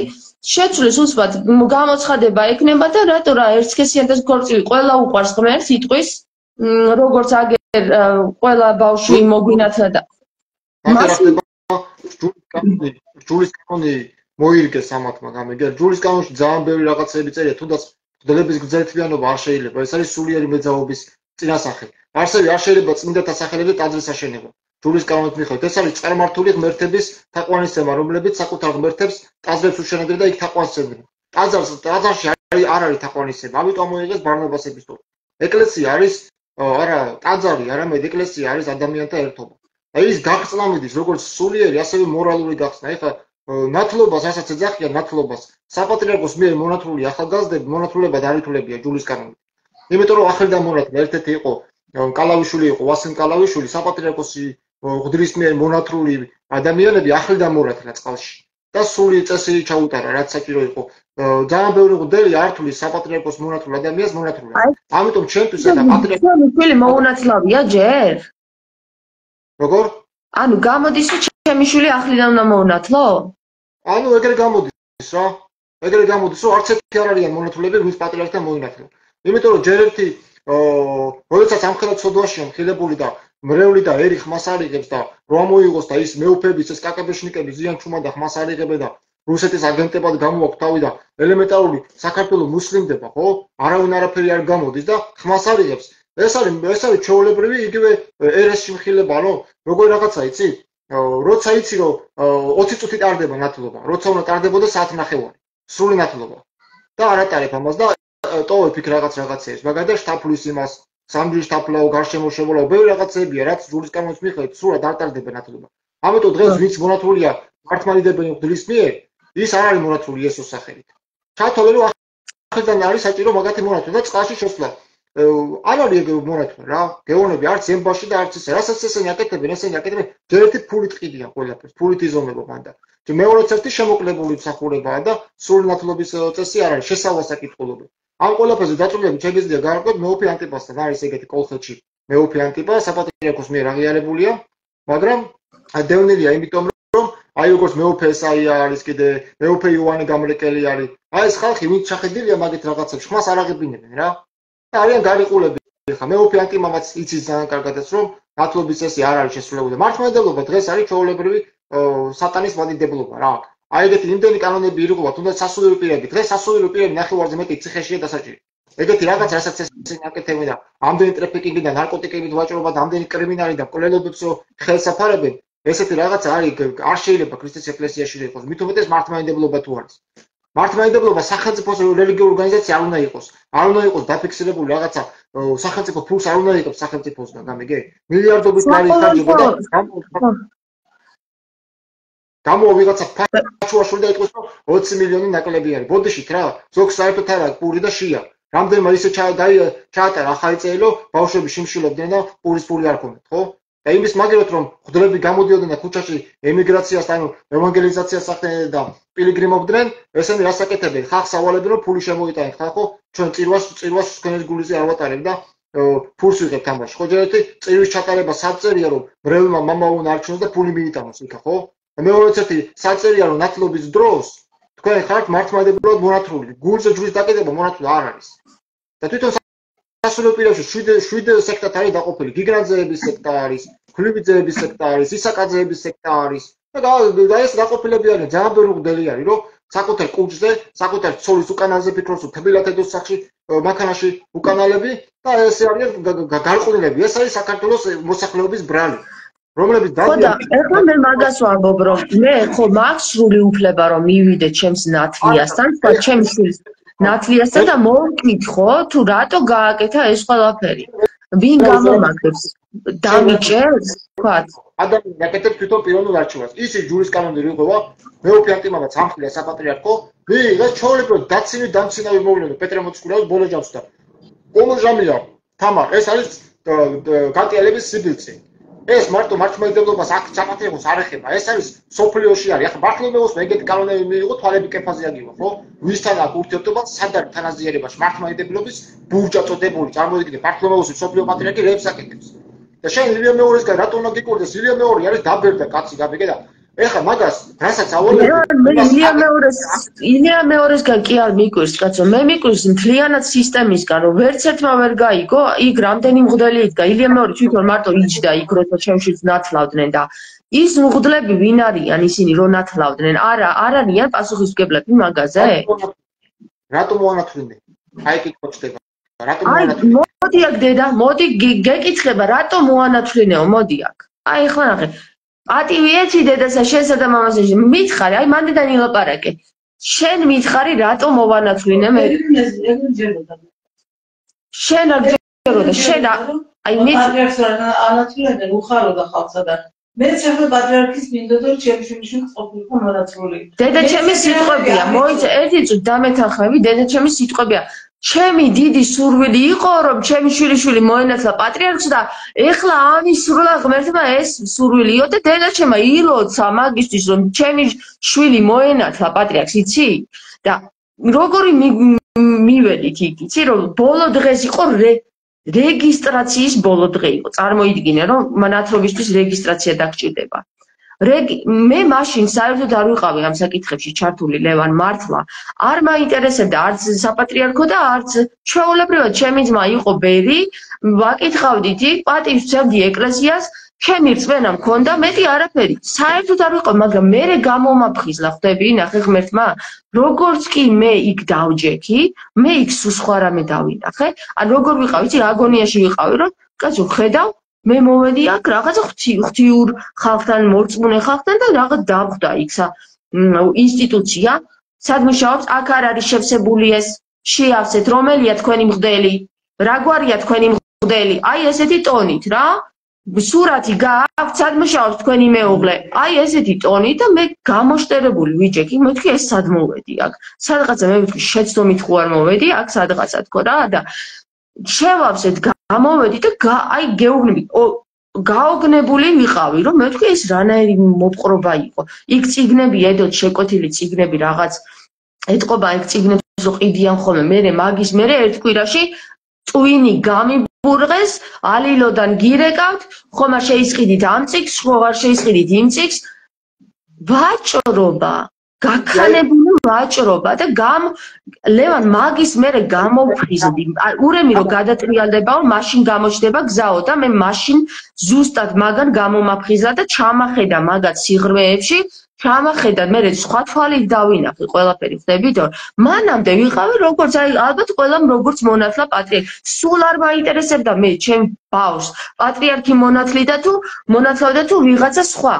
შეცვლის უცბად გამოცხადება ექნება და რატო რა ერთსქესიანი და ქორწილი ყველა უყვარს ღმერთს იტყვის როგორც აგერ ყველა ბავშვი მოგვინათლა და ჯულის კანონი მოირგეს ამათმა გამიგე ჯულის კანონში ძალიან ბევრი რაღაცები წერია თუნდაც მღვდლების გრძელთბიანობა არ შეიძლება ეს არის სულიერი მეძაობის წინასახე არსები არ შეიძლება წმინდათა სახელებზე ტაძრის აშენება ჯულის კანონით მიხედვით ეს არის წარმართული ღმერთების თაყვანისცემა რომლებიც საკუთარ ღმერთებს ტაძრებს უშენებდნენ და იქ თაყვანისცემდნენ ტაძარში არ არის თაყვანისცემა ამიტომ მოიღეს ბარნაბას ეპისტოლე ეკლესია არის არა ტაძარი არამედ ეკლესია არის ადამიანთა ერთობა და ის გახსნა მიდის როგორც სულიერი ასევე მორალური გახსნა ეხლა ნათლობას რასაც ეძახიან ნათლობას საპატრიარქოს მიერ მონათლული ახალგაზრდები მონათლულებად არ ითვლებია ჯულის კანონით იმიტომ რომ ახალგაზრდა მონათლე ერთ-ერთი იყო კალავიშვილი იყო ვასილ კალავიშვილი საპატრიარქოსი ღმრთის მიერ მონათლული ადამიანები ახალგაზრდა მონათლა წყალში და სული წესი ჩაუტარა რაც საჭირო იყო ძალიან ბევრი ღმრთელი არ თulis საპატრიარქოს მონათლულ ადამიანს მონათლულა ამიტომ ჩვენთვის და პატრიარქოს შვილი მოუნათლავია ჯერ როგორ ანუ გამოდის რომ ჩემი შვილი ახლიდან უნდა მოუნათლო ანუ ეგრე გამოდის რა ეგრე გამოდის რომ არც ერთი არ არიან მონათლულები ვის პატრიარქთან მოინათლა იმიტომ რომ ჯერ ერთი როდესაც ამხელად სოდვაშია მხილებული და მრევლი და ერი ხმას არიღებს და რომ მოიღოს და ის მეუფების ეს კაკაბეშნიკები ზიან ჩუმა და ხმას არიღებენ და რუსეთის აგენტებად გამოაქვს თავი და ელემენტარული საქართველოს მუსლიმდება ხო არავინ არაფერი არ გამოდის და ხმას არიღებს ეს არის ჩვეულებრივი იგივე ერესში მხილება რომ როგორი რაღაცა იცი როცა იცი რომ 20 წუთი ტარდება ნათლობა როცა უნდა ტარდებოდა საათნახევარი სრული ნათლობა და არ ატარებ ამას და ტოვებ იქ რაღაცებს მაგალითად შთაფლის იმას სამჯიშ თაფლაო, გარშემო შემოლაო, ბევრი რაღაცებია, რაც ჯურის კანონის მიხედვით სრულად არ ტარდება ნათლობა. ამიტომ დღეს ვინც მონათლულია მართლმადიდებელი მღვდლის მიერ, ის არ არის მონათლული იესოს სახელით. ჩათვალე რომ ახლა არის საჭირო მაგათი მონათლა და წყალში შესვლა. არ არის ეგ მონათლა რა. გეონები არც ემბაში და არც ესე. რასაც ესენი აკეთებენ, ჯერ ერთი ფულით ყიდიან ყველაფერს, ფულით იზომება მანდა. მეორეც ერთი შემოკლებული მსახურებაა და სრული ნათლობის წესი არ არის, შესავლა საკითხულობი. ამ ყველაფერზე დაწვრილებით შეგიძლია გავარკვიოთ მეუფე ანტიპასთან არის ეგეთი კოლხეთში. მეუფე ანტიპა საპატრიარქოს მიერ აღიარებულია, მაგრამ დევნილია იმიტომ რომ აი როგორც მეუფე ესაია არის კიდე მეუფე იოანე გამრეკელი არის. აი ეს ხალხი ვინც ჩახედილია მაგეთ რაღაცებში, ხმას არ აღებინებენ რა. და არიან გარიყულები. ხა მეუფე ანტიმამაც იცის ძალიან კარგადაც რომ ნათლობის წესი არ არის შესრულებული. მართლმადიდებლობა დღეს არის ჩვეულებრივი სატანის მადიდებლობა რა. აი ეგეთი იმდენი კანონები ირღვევა, თუნდაც სასულიერო პირები. დღეს სასულიერო პირები ნახევარზე მეტი ციხეშია დასაჭირი. ეგეთი რაღაც რასაც ესენი აკეთებენ და ამდენი ტრაფიკინგი და ნარკოტიკებით ვაჭრობა და ამდენი კრიმინალი და მკვლელობებს ხელს აფარებენ, ესეთი რაღაც არის არ შეიძლება ქრისტეს ეკლესიაში იყოს. მით უმეტეს მართლმადიდებლობა თუ არის. მართლმადიდებლობა სახელმწიფოს რელიგიური ორგანიზაცია არ უნდა იყოს. არ უნდა იყოს დაფიქსირებული რაღაცა სახელმწიფო ფულს არ უნდა იყოს სახელმწიფოსგან, გამიგე? მილიარდობით ლარი ხარჯება და გამო ვიღაცა ფაჩუაშვილი და იტყვის რომ 20 მილიონი ნაკლები არის. ბოდიშით რა, ზოგს საერთოდ არა პური და შია. რამდენმა ისე ჩაატარა ახალი წერილო, ბავშვები შიმშილობდნენ და პურის პური არ ქონდათ, ხო? და იმის მაგერად რომ მღვდლები გამოდიოდნენ და ქუჩაში ემიგრაციას, ანუ ევანგელიზაციას ახდენენ და პილიგრიმობდნენ, ესენი რას აკეთებენ? ხალხს ავალებენ რომ ფული შემოიტანეთ, ხალხო, ჩვენ წირვას თქვენს გულიზე არ ვატარებ და ფულს ვიღებთ ამაში. ხო, ჯერ ერთი წირვის ჩატარება საწერია რომ მრევლმა მამა უნდა არჩიოს და ფული მიიტანოს იქა, ხო? მეორეც ერთი საწერია რომ ნათლობის დროს თქვენ ხართ მართლმადიდებლად მონათლული. გულზე ჯვრის დაკიდება მონათლული არ არის. და თვითონ სასულიერო პირებში 7 სექტად არის დაყოფილი. გიგრანძეების სექტა არის, ქვლივიძეების სექტა არის, ისაკაძეების სექტა არის. და ეს დაყოფილები არის ძალიან ბევრი მღვდელი არის, რომ საკუთარ კუჭზე, საკუთარ ცოლის უკანაზე ფიქრობს, თბილათედოს სახში, მანქანაში უკანალები და ესე არიან გარყვნილები. ეს არის საქართველოს მოსახლეობის ბრალი. რომლებიც და ეხლა მე მაგას ვამბობ რომ მე ხო მაქვს სრული უფლება რომ მივიდე ჩემს ნათლიასთან და ჩემს შვილს ნათლიასთან და მოვკითხო თუ რატო გააკეთა ეს ყველაფერი. ვინ გამომაგდებს? დამიჭერს? თქვათ. ადამიანი აკეთებს თვითონ პიროვნულ არჩევანს. ისიც ჯურის კანონი რიღვევა, მეუფე ანტიმამაც ამხლია საპატრიარქო, ვიღაც ჩაოლებრო დამცინავი მოვლენო პეტრე მოციქულის ბოლო ჯამს და კომუჟამია თამარ ეს არის განტიალების სიბილწე. ეს მარტო მართლმადიდებლობას აქ საპატრიარქოს არ ეხება. ეს არის სოფლიოში არის. ახლა მართლმადიდებლობას ეგეთი კანონები მიიღო, თვალები კეფაზე აგივა, ხო? ვისთან აქვს ურთიერთობა სადარ თანაზიერებაში მართლმადიდებლობის ბურჯა წოდებული. წარმოიდგინე, მართლმადიდებლობის სოფლიო პატრიარქი რებს აკეთებს. და შენ ილია მეორესგან რატო უნდა გიკვირდეს? ილია მეორე არის დაბერდა კაცი, გაბიგე და ეხლა მაგას რასაც ავალებ ილია მეორესგან კი არ მიკვირს კაცო, მე მიკვირს მთლიანად სისტემისგან, რომ ვერც ერთმა ვერ გაიგო, იქ რამდენი მღვდელი იდგა, ილია მეორე თვითონ მარტო იჯდა იქ, როცა ჩემშიც ნათლავდნენ და ის მღვდლები ვინ არიან ისინი რომ ნათლავდნენ? არ არიან პასუხისმგებლები მაგაზე? რატო მოანათლინე? აი კითხვა ჩდება. რატო მოანათლინე? მოდი აქ დედა, მოდი გეკითხება, რატო მოანათლინეო, მოდი აქ. აი ახლა ნახე. პატივი ეცი დედასა შენსა და მამასა მითხარი, აი მანდიდან ილაპარაკე. შენ მითხარი რატო მოვანათლინე მე? შენ არ გჯეროდა, შენ აი მე პატრიარქს ანათლინებენ უხაროდა ხალხსა და მეც ახლა პატრიარქის მინდოდა რომ ჩემი შვილი ყოფილიყო მონათლული. დედა ჩემი სიტყვებია, მოიცა ერთი წუთი დამეთანხმები, დედა ჩემი სიტყვებია. ჩემი დიდი სურვილი იყო რომ ჩემი შვილიშვილი მოენათლა პატრიარქს და ეხლა ამის სრულად ღმერთმა ეს სურვილიო და დედა ჩემა ილოცა მაგისთვის რომ ჩემი შვილი მოენათლა პატრიარქს, იცი? და როგორი მივედით იქ, იცი რომ ბოლო დღეს იყო რეგისტრაციის ბოლო დღე იყო. წარმოიდგინე რომ ნათლობისთვის რეგისტრაცია დაგჭირდება. მე მაშინ საერთოდ არ ვიყავი ამ საკითხებში ჩართული ლევან მართლა. არ მაინტერესებდა არც საპატრიარქო და არც ჩვეულებრივად ჩემი ძმა იყო ბერი, ვაკითხავდით იქ, პატივს ვცემდი ეკლესიას, ჩემი რწმენა მქონდა, მეტი არაფერი. საერთოდ არ ვიყავ, მაგრამ მე გამომაფხიზლა, ხვდები, ნახე ღმერთმა, როგორც კი მე იქ დავჯექი, მე იქ სულ სხვა რამე დავინახე. ან როგორ ვიყავ, იცი, აგონიაში ვიყავი, რომ კაცო ხედავ მე მოვედი აქ რაღაცა ღვთიურ ხალხთან, მორწმუნე ხალხთან და რაღაც დავხვდა იქ ინსტიტუცია, სად მუშაობს, აქ არ არის შევსებული ეს, შეავსეთ, რომელია თქვენი მღვდელი, რა გვარია თქვენი მღვდელი, აი ესეთი ტონით რა. სურათი გააქვთ, სად მუშაობს თქვენი მეუღლე? აი ესეთი ტონით და მე გამოშტერებული ვიჯექი, მეთქი ეს სად მოვედი აქ. სადღაცა მე ვიტყვი შეცდომით ხო არ მოვედი აქ სადღაცა თქო რა და შევავსეთ გამოვედი და აი გეუბნები გაოგნებული ვიყავი რომ მე ვთქვი ეს რანაირი მოპყრობა იყო. იქ წიგნები ედოთ შეკვეთილი წიგნები რაღაც ეთყობა იქ წიგნებს რო ყიდიან ხოლმე მე მაგის მე ერთ კვირაში წვინი გამიბურღეს ალილოდან გირეკავთ ხომ არ შეისყიდით ამ წიგს ხო არ შეისყიდით იმ წიგს ვაჭრობა გაქანებული ვაჭრობა და ლევან მაგის მე გამოვფრიზდი ურემი რომ გადატრიალდებაო მაშინ გამოჩდება გზაო და მე მაშინ ზუსტად მაგან გამომაფხიზლა და ჩამახედა მაგათ სიღრმეებში ჩამახედა მე სხვა თვალით დავინახე ყველაფერი ხდებით მანამდე ვიყავი როგორც აი ალბათ ყველამ როგორც მონათლა პატრიარქი სულ არ მაინტერესებდა მე ჩემ ბავშვს პატრიარქი მონათლიდა თუ მონათლავდა თუ ვიღაცა სხვა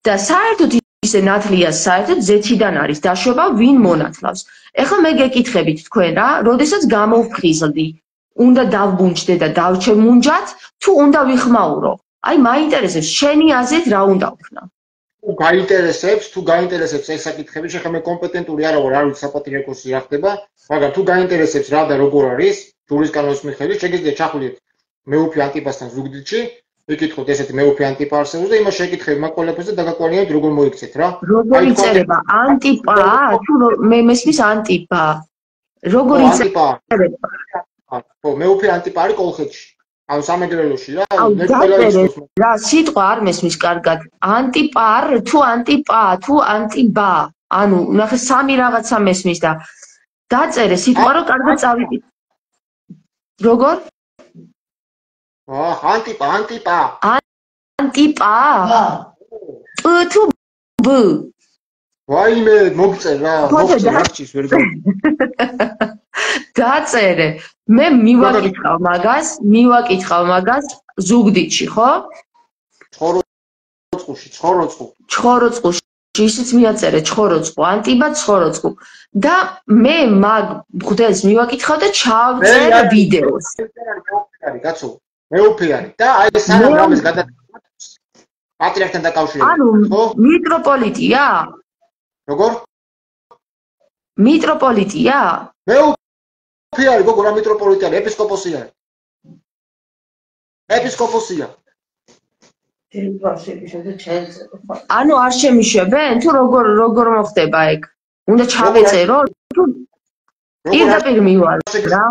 და საერთოდ ისე ნათლია საერთოდ ზეთიდან არის დაშვება ვინ მონათლავს ეხლა მე გეკითხებით თქვენ რა როდესაც გამოვფრიზლდი უნდა დავბუნჯდე და დავჩემუნჯათ თუ უნდა ვიხმაურო აი მაინტერესებს შენი აზრით რა უნდა ვქნა თუ გაინტერესებს ეს საკითხები, შეხა მე კომპეტენტური არა ვარ, არ ვიცი საპატრიარქოსი რა ხდება, მაგრამ თუ გაინტერესებს რა და როგორ არის, ჯურის კანონის მიხედვით, შეგიძლიათ ჩახულიეთ მეუფე ანტიპასთან ზუგდიდში, ეკითხოთ ესეთი მეუფე ანტიპა არსებობს და იმას შეკითხები მაგ ყველაფერს და დაგაკვირდით როგორ მოიქცეთ რა. როგორ იწერება ანტიპა თუ მე მესმის ანტიპა. როგორ იწერება? ხო, მეუფე ანტიპა არის კოლხეთში. ან სამეგრელოში რა მე ყველა ის რა სიტყვა არ მესმის კარგად ანტიპარ თუ ანტიპა თუ ანტიბა ანუ ნახე სამი რაღაცა მესმის და დაწერე სიტყვა რომ კარგად წავიდით როგორ ანტიპა ანტიპა პ თუ ბ ვაიმე მოგწერ რა მოხდეს ვერ გავიგე დაწერე მე მივაკითხავ მაგას ზუგდიდში ხო ჩხოროწყუში ისიც მიაწერე ჩხოროწყუ ანტიბა ჩხოროწყუ და მე მაგ მღვდელს მივაკითხავ და ჩავწერ ვიდეოს კაცო მეუფე არის და აი სანამ რამეს გადაწყდა პატრიარქთან დაკავშირებით ხო მიტროპოლიტია როგორ მიტროპოლიტია მეუფე არის გოგო რა მიტროპოლიტი არის ეპისკოპოსი არის ეპისკოპოსია ანუ არ შემიშვებენ თუ როგორ მოხდება ეგ უნდა ჩავეწერო თუ პირდაპირ მივალ რა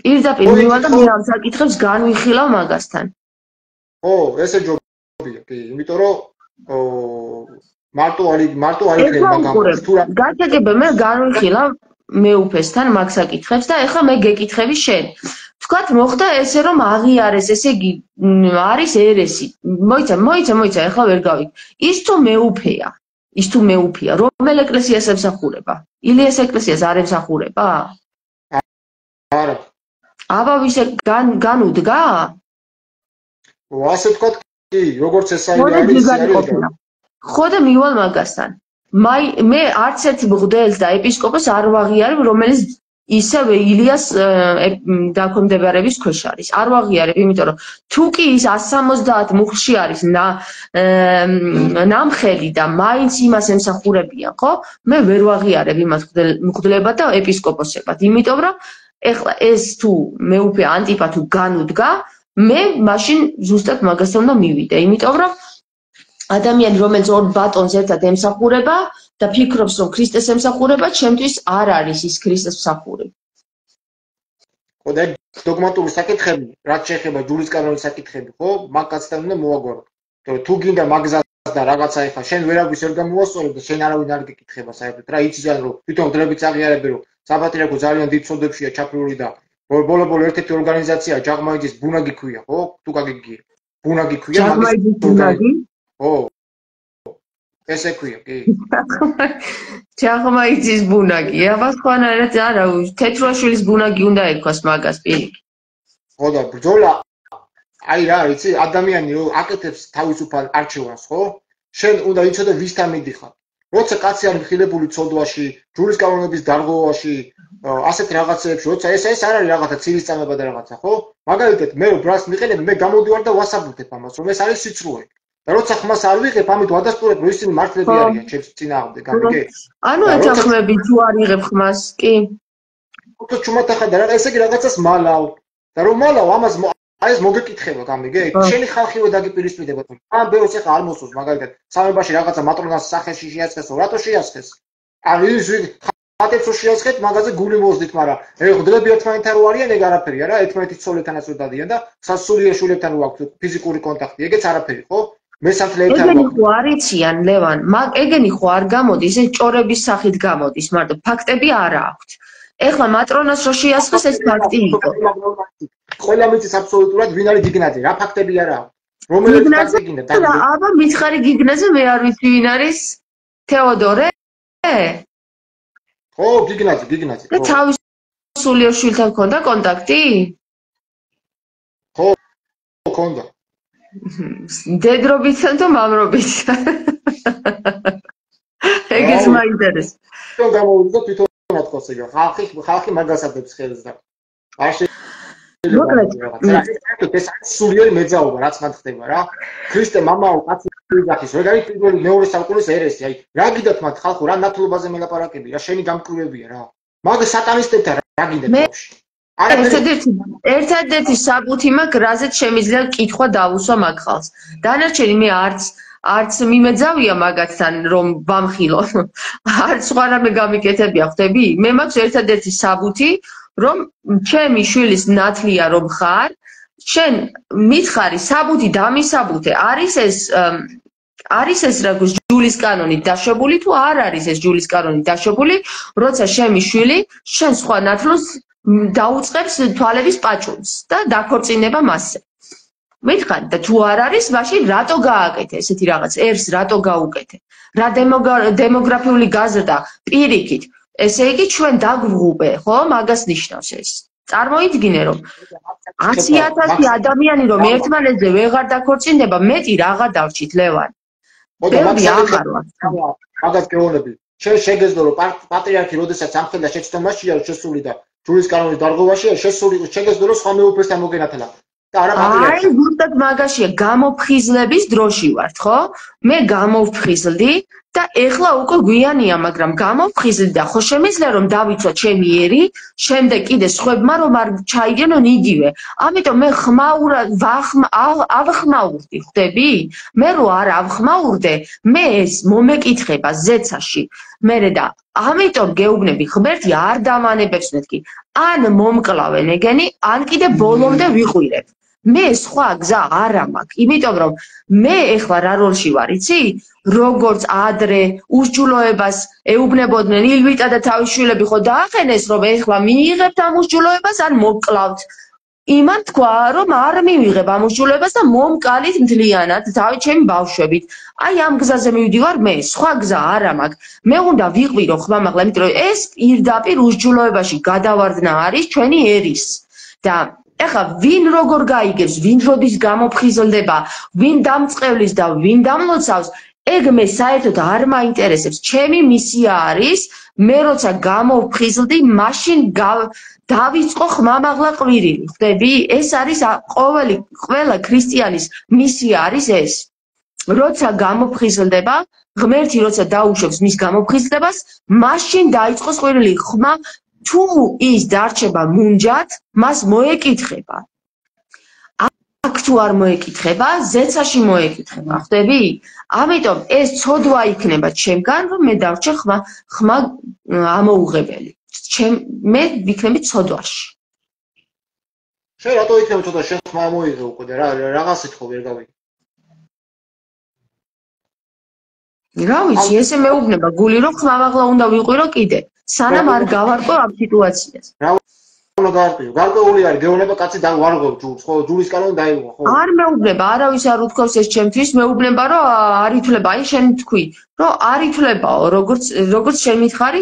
პირდაპირ მივალ და მე ამ საკითხებს განვიხილავ მაგასთან ო ესე ჯობია კი იმიტომ რომ მარტო არის მაგამ თუ რა გაგეგებ მე განვიხილავ მეუფესთან მაგ საკითხებს და ეხლა მე გეკითხები შენ თქვათ მოხდა ესე რომ აღიარეს ესე იგი არის ერესი მოიცა ეხლა ვერ გავიგე ის თუ მეუფეა რომელ ეკლესიას ემსახურება ილიას ეკლესიას არ ემსახურება არა აბა ვისე განუდგა ასე თქვათ კი როგორც ეს არის ხო და მივალ მაგასთან მე არც ერთ მღვდელს და ეპისკოპოსს არ ვაღიარებ რომელიც ისევ ილიას დაქვემდებარების ქვეშ არის არ ვაღიარებ იმიტომ რომ თუ კი ის 170 მუხლში არის ნამხელი და მაინც იმას ემსახურებიან ხო მე ვერ ვაღიარებ იმას მღვდლებად და ეპისკოპოსებად იმიტომ რომ ეხლა ეს თუ მეუფე ანტიპა თუ განუდგა მე მაშინ ზუსტად მაგასთან უნდა მივიდე იმიტომ რომ ადამიანი რომელიც ორ ბატონს ერთად ემსახურება და ფიქრობს რომ ქრისტეს ემსახურება ჩემთვის არ არის ის ქრისტეს მსახური. ხო და დოგმატური საკითხები რაც შეეხება ჯურის კანონის საკითხები ხო მაგასთან უნდა მოვაგვარო. თუ გინდა მაგზას და რაღაცა ეხა შენ ვერავის ვერ გამოასწორებ და შენ არავინ არ გეკითხება საერთოდ რა იციან რომ თვითონ დრებიც აღიარებენ რომ საპატრიარქო ძალიან დიდ ცოდებშია ჩაფრული და ბოლო ერთ-ერთი ორგანიზაცია ჯაღმაიძის ბუნაგი ქვია ხო თუ გაგიგია ბუნაგი ქვია ჯაღმაიძის ბუნაგი ო ესე ქვია კი ჯაღმაიძის ბუნაგი აბა სხვანაირად არა თეთრაშვილის ბუნაგი უნდა ერქვას მაგას პირიქით ხო და ბრძოლა აი რა იცი ადამიანი აკეთებს თავისუფალ არჩევანს ხო შენ უნდა იცოდე ვისთან მიდიხარ როცა კაცი არის მხილებული ცოდვაში, ჯურის კანონების დარღვევაში, ასეთ რაღაცეებში, როცა ეს არ არის რაღაცა ცივისწამება და რაღაცა, ხო? მაგალითად, მე ბრას მიყენებ, მე გამოდივარ და ვასაბუთებ ამას, რომ ეს არის სიცრუე. და როცა ხმას არ ვიღებ, ამით ვადასტურებ, რომ ისინი მართლები არიან ჩემს წინააღმდეგ, გამიგე? ანუ ეთანხმები თუ არ იღებ ხმას, კი? უფრო ჩუმად ახლა და ესე იგი რაღაცას მალავ. და რომ მალავ, ამას აი ეს მოგეკითხება, გამიგე? შენი ხალხიო დაგიპირისპირდება. ამ ბეროს ახლა არ მოსულს, მაგალითად, სამებაში რაღაცა მატრონას სახეში შეაცხესო, რატო შეაცხეს? არ ის ხატებს შეაცხეთ, მაგაზე გული მოздით, მაგრამ ეხდრები ერთმანეთთან რო არიან, ეგ არაფერი არა, ერთმანეთის ცოლეთანაც რო დადიან და სასულიერო შვილებთან რო აქვს ფიზიკური კონტაქტი, ეგეც არაფერი, ხო? მესამთლეებთან ეგენი ხო არიციან, ლევან, ეგენი ხო არ გამოდის, ეს ჭორების სახით გამოდის, მარტო ფაქტები არა აქვთ. ეხლა მატრონას რო შეასხეს, ეს ფაქტი იყო. ყველა მიწის აბსოლუტურად ვინ არის გიგნაძე, რა ფაქტები არა აქვს. რომელიც ფაქტი გინდა? აბა მითხარი გიგნაძე, მე არ ვიცი ვინ არის? თეოდორე? ხო, გიგნაძე. და თავის სულიერ შვილთან ქონდა კონტაქტი? ხო, ქონდა. დედრობითან და მამრობითან. ეგეც მაინტერესებს. თვითონ გამოვიდა თვითონ ათქოს ეგ. ხალხი მაგასადებს ხელს და არ ეს სულიერი მეძაობა რაც მან ხდება რა. ქრისტე მამაო კაცი ვიღახის, ეგ არის პირველი მეორე საუკუნის ერესი. აი, რა გიდათ მათ ხალხო, რა ნათლობაზე მელაპარაკები, რა შენი გამკვლევებია რა. მაგ სატანისტებთან რა გინდათ ბავშვი? ერთადერთი საბუთი მაქვს, რაზეც შემიძლია კითხვა დავუსვა მაგ ხალხს. დანარჩენი მე არც მიმეძავია მაგათთან რომ ვამხილო. არც სხვა რამე გამიკეთებია, ხვდები? მე მაქვს ერთადერთი საბუთი, რომ ჩემი შვილის ნათლია რომ ხარ, შენ მითხარი საბუთი დამისაბუთე, არის ეს რა გვს ჯულის კანონით დაშვებული თუ არ არის ეს ჯულის კანონით დაშვებული, როცა შემი შვილი შენ სხვა ნათლს დაუწყებს თვალების პაჭუნს და დაქორწინება მასზე. მითხარი და თუ არ არის, მაშინ რატო გააკეთე ესეთი რაღაც? ერს რატო გაუკეთე? რა დემოგრაფიული გაზრდა პირიქით. ესე იგი ჩვენ დაგვღუპე, ხო? მაგას ნიშნავს ეს. წარმოიდგინე რომ 100,000 ადამიანი რომ ერთმანეთზე ვეღარ დაქორწინდება, მეტი რაღა დავჭით ლევან. მაგას გეუბნები. შენ შეგეძლო რომ პატრიარქი როდესაც ამხელდა შეცდომაშია შესული და ჯურის კანონის დარღვევაშია შესული, შეგეძლო რომ სხვა მეუფესთან მოგენათლა. აი, ზუსტად მაგაშია, გამოფხიზლების დროში ვართ, ხო? მე გამოვფხიზლდი და ეხლა უკვე გვიანია, მაგრამ გამოვფხიზლდი და ხო შემიძლია რომ დავიცვა ჩემი ერი, შემდეგ კიდე სხვებმა რომ არ ჩაიგენონ იგივე. ამიტომ მე ავხმაურდი, ხვდები? მე რო არ ავხმაურდე, მე ეს მომეკითხება ზეცაში. მერე და ამიტომ გეუბნები, ღმერთი არ დამანებებს მეთქი. ან მომკლავენ ეგენი, ან კიდე ბოლომდე ვიყვირებ. მე სხვა გზა არ მაქვს, იმიტომ რომ მე ეხლა რა როლში ვარ, იცი? როგორც ადრე უსჯულოებას ეუბნებოდნენ ილვიტა და თავის შვილები ხო დაახენეს, რომ ეხლა მიიღებთ ამ უსჯულოებას, ან მოკლავთ. იმან თქვა, რომ არ მივიღებ ამ უსჯულოებას და მომკალით მთლიანად თავი ჩემი ბავშვებით. აი ამ გზაზე მივდივარ მე, სხვა გზა არ მაქვს. მე უნდა ვიყვირო ხმამაღლა, იმიტომ რომ ეს პირდაპირ უსჯულოებაში გადავარდნა არის ჩვენი ერის. და ეხლა ვინ როგორ გაიგებს, ვინ როდის გამოფხიზლდება, ვინ დამწყევლის და ვინ დამლოცავს, ეგ მე საერთოდ არ მაინტერესებს. ჩემი მისია არის, მე როცა გამოვფხიზლდი, მაშინ დავიწყო ხმამაღლა ყვირილი, ხვდები? ეს არის ყველა ქრისტიანის მისია არის ეს. როცა გამოფხიზლდება, ღმერთი როცა დაუშვებს მის გამოფხიზლდებას, მაშინ დაიწყოს ყვირილი ხმა. თუ ის დარჩება მუნჯად, მას მოეკითხება. აქ თუ არ მოეკითხება, ზეცაში მოეკითხება, ხვდები? ამიტომ ეს ცოდვა იქნება ჩემგან, რომ მე დავრჩე ხმა ამოუღებელი. მე ვიქნები ცოდვაში. შენ რატო იქნება ცოდვა, შენ ხმა მოიღე უკვე და რაღაცით ხო ვერ გავიგე. რა ვიცი, ესე მეუბნება გული რომ ხმამაღლა უნდა ვიყვირო კიდე. სანამ არ გავარკვევ ამ სიტუაციას. რა უნდა გავარკვევ? გარკვეული არის, გეუბნება კაცი დავარღვევ ჯულს, ხო, ჯულის კანონი დაიღო, ხო? არ მეუბნება, არავის არ უთქვავს ეს ჩემთვის, მეუბნება რომ არ ითვლება, აი შენ თქვი, რომ არ ითვლებაო, როგორც შენ მითხარი,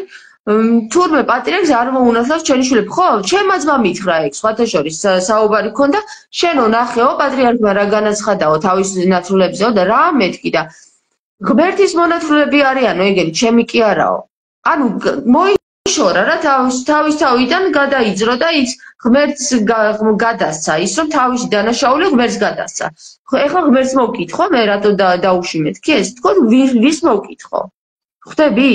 თურმე პატრიარქს არ მოუნათლავს ჩემი შვილები, ხო? ჩემაცმა მითხრა ეგ, სხვათა შორის საუბარი ქონდა, შენო ნახეო პატრიარქმა რა განაცხადაო თავის ნათლულებზეო და რა მეთქი და ღმერთის მონათლულები არიანო, ეგენი, ჩემი კი არაო. ანუ მოიშორა რა თავისთავიდან გადაიძრო და ის ღმერთს გადასცა, ის რომ თავისი დანაშაული ღმერთს გადასცა. ეხლა ღმერთს მოვკითხო, მე რატო დაუშინეთ კი ეს? თქო, ვის მოვკითხო? ხვდები?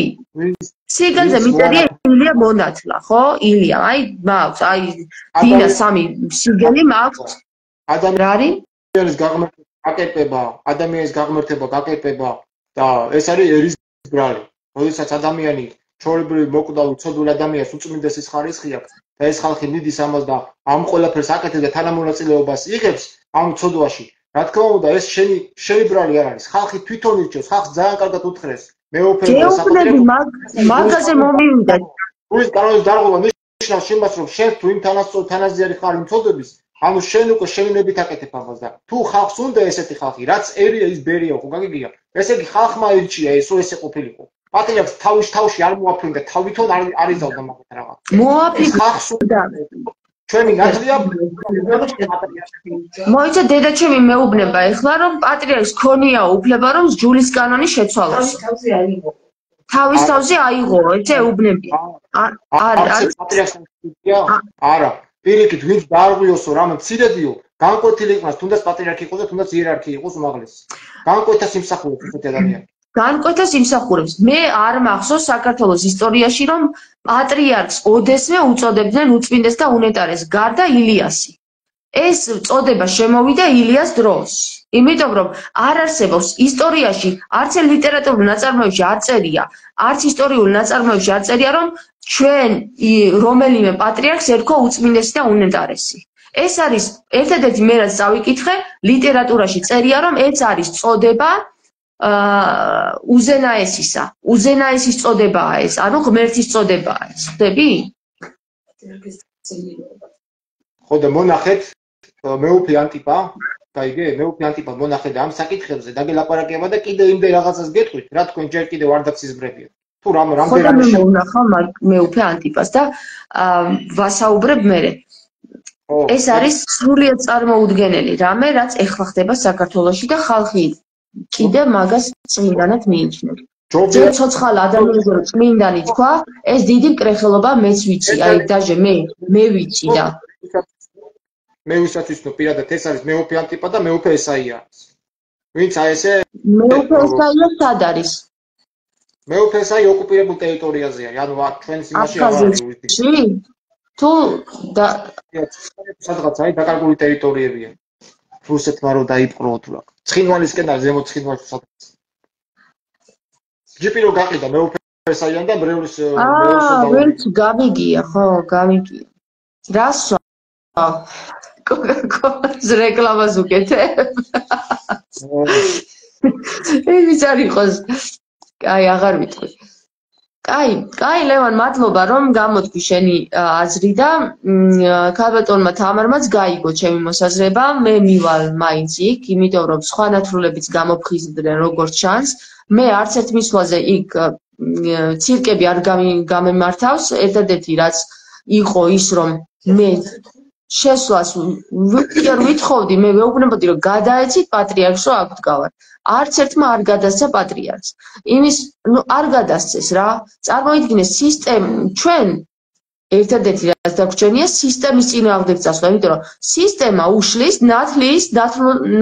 სიგანზე მიწერია ილია მონათლა, ხო? ილია, აი მაქვს, აი დინა სამი სიგელი მაქვს. ადამიანის გაღმერთება, გაკეთება და ეს არის ერის ბრალი. როდესაც ადამიანი ჩვეულებრივი მოკვდავ უცოდულ ადამიანს უწმინდესის ხარისხი აქვს და ეს ხალხი მიდის ამას და ამ ყველაფერს აკეთებს და თანამონაწილეობას იღებს ამ უცოდვაში. რა თქმა უნდა, ეს შენი ბრალი არ არის. ხალხი თვითონ ირჩევს, ხალხს ძალიან კარგად უთხრეს. მეუფლები მაგაზე მომივიდა. გულის კანონის დარღვევა ნიშნავს იმას, რომ შენ თუ იმ თანაზიარი ხარ იმ ცოდვების, ანუ შენ უკვე შენინებით აკეთებ ამას და თუ ხალხს უნდა ესეთი ხალხი, რაც ერია ის ბერია, ხო გაგიგია? ესე იგი ხალხმა ირჩია ესო ესე ყოფილიყო. პატრიარქს თავში არ მოაფრინდა, თავითონ არ იზავდა მაგათ რაღაც. მოაფრინდა ხალხს უნდა ჩვენი ნაცვლია მოიცა დედაჩემი მეუბნება ეხლა რომ პატრიარქს ქონია უფლება რომ ჯულის კანონი შეცვალოს. თავის თავზე აიღო, ესე უბნებია. არა, პირიქით ვინც დაარღვიოსო რამე მცირედიო, განკვეთილი იყოს, თუნდაც პატრიარქი იყოს და თუნდაც იერარქი იყოს უმაღლესი. განკვეთას იმსახურებს ესეთი ადამიანი. განკვეთას იმსახურებს. მე არ მახსოვს საქართველოს ისტორიაში რომ პატრიარქს ოდესმე უწოდებდნენ უწმინდეს და უნეტარეს გარდა ილიასი. ეს წოდება შემოვიდა ილიას დროს. იმიტომ რომ არ არსებობს ისტორიაში, არც ლიტერატურულ ნაწარმოებში არ წერია, არც ისტორიულ ნაწარმოებში არ წერია რომ ჩვენ რომელიმე პატრიარქს ერქვა უწმინდესი და უნეტარესი. ეს არის ერთადერთი მე რაც წავიკითხე, ლიტერატურაში წერია რომ ეს არის წოდება უზენაესისა. უზენაესის წოდებაა ეს, ანუ ღმერთის წოდებაა ეს. ხვდები? ხო და მონახეთ მეუფე ანტიპა, გაიგე? მეუფე ანტიპა მონახეთ ამ საკითხებზე დაგელაპარაკება და კიდე იმდენ რაღაცას გეტყვით, რა თქვენ ჯერ კიდევ არ დაგსიზმრებია. თუ რამდენიმე ხო და მე ვნახავ მეუფე ანტიპას და ვასაუბრებ მერე. ეს არის სრულიად წარმოუდგენელი რამე, რაც ეხლა ხდება საქართველოში და ხალხი კიდე მაგას წმინდანად მიიჩნევს. ჯერ ცოცხალ ადამიანს რო წმინდანი თქვა, ეს დიდი მკრეხელობა მეც ვიცი, აი დაჟე მე ვიცი და მე ვისაც ვიცნობ პირადად ეს არის მეუფე ანტიპა და მეუფე ესაია. ვინც აი ესე მეუფე ესაია სად არის? მეუფე ესაი ოკუპირებულ ტერიტორიაზეა, ანუ ჩვენს იმაში არ არის. თუ სადღაც აი დაკარგული ტერიტორიებია. რუსეთმა რო დაიპყრო თუ რა. ცხინვალისკენ და ზემო ცხინვალში სადღაც. ჯიპი რო გაყიდა მეუფე ესაიან და ბრევლის ვერც გამიგია, ხო, გამიგია. რას კოკა-კოლას რეკლამას უკეთებ? ის არ იყოს. აი, აღარ ვიტყვი. კაი, ლევან, მადლობა რომ გამოთქვი შენი აზრი და ქალბატონმა თამარმაც გაიგო ჩემი მოსაზრება. მე მივალ მაინც იქ, იმიტომ რომ სხვა ნათრულებიც გამოფხიზდნენ როგორც ჩანს. მე არც ერთ მისვლაზე იქ ცირკები არ გამემართავს. ერთადერთი რაც იყო ის რომ მე შესვლას ვითხოვდი, მე ვეუბნებოდი რომ გადაეცით პატრიარქს რომ აქ ვდგავარ. არც ერთმა არ გადასცა პატრიარქს. არ გადასცეს რა. წარმოიდგინეს ჩვენ ერთადერთი რაც დაგვრჩენია სისტემის წინააღმდეგ წასვლა, იმიტომ რომ სისტემა უშლის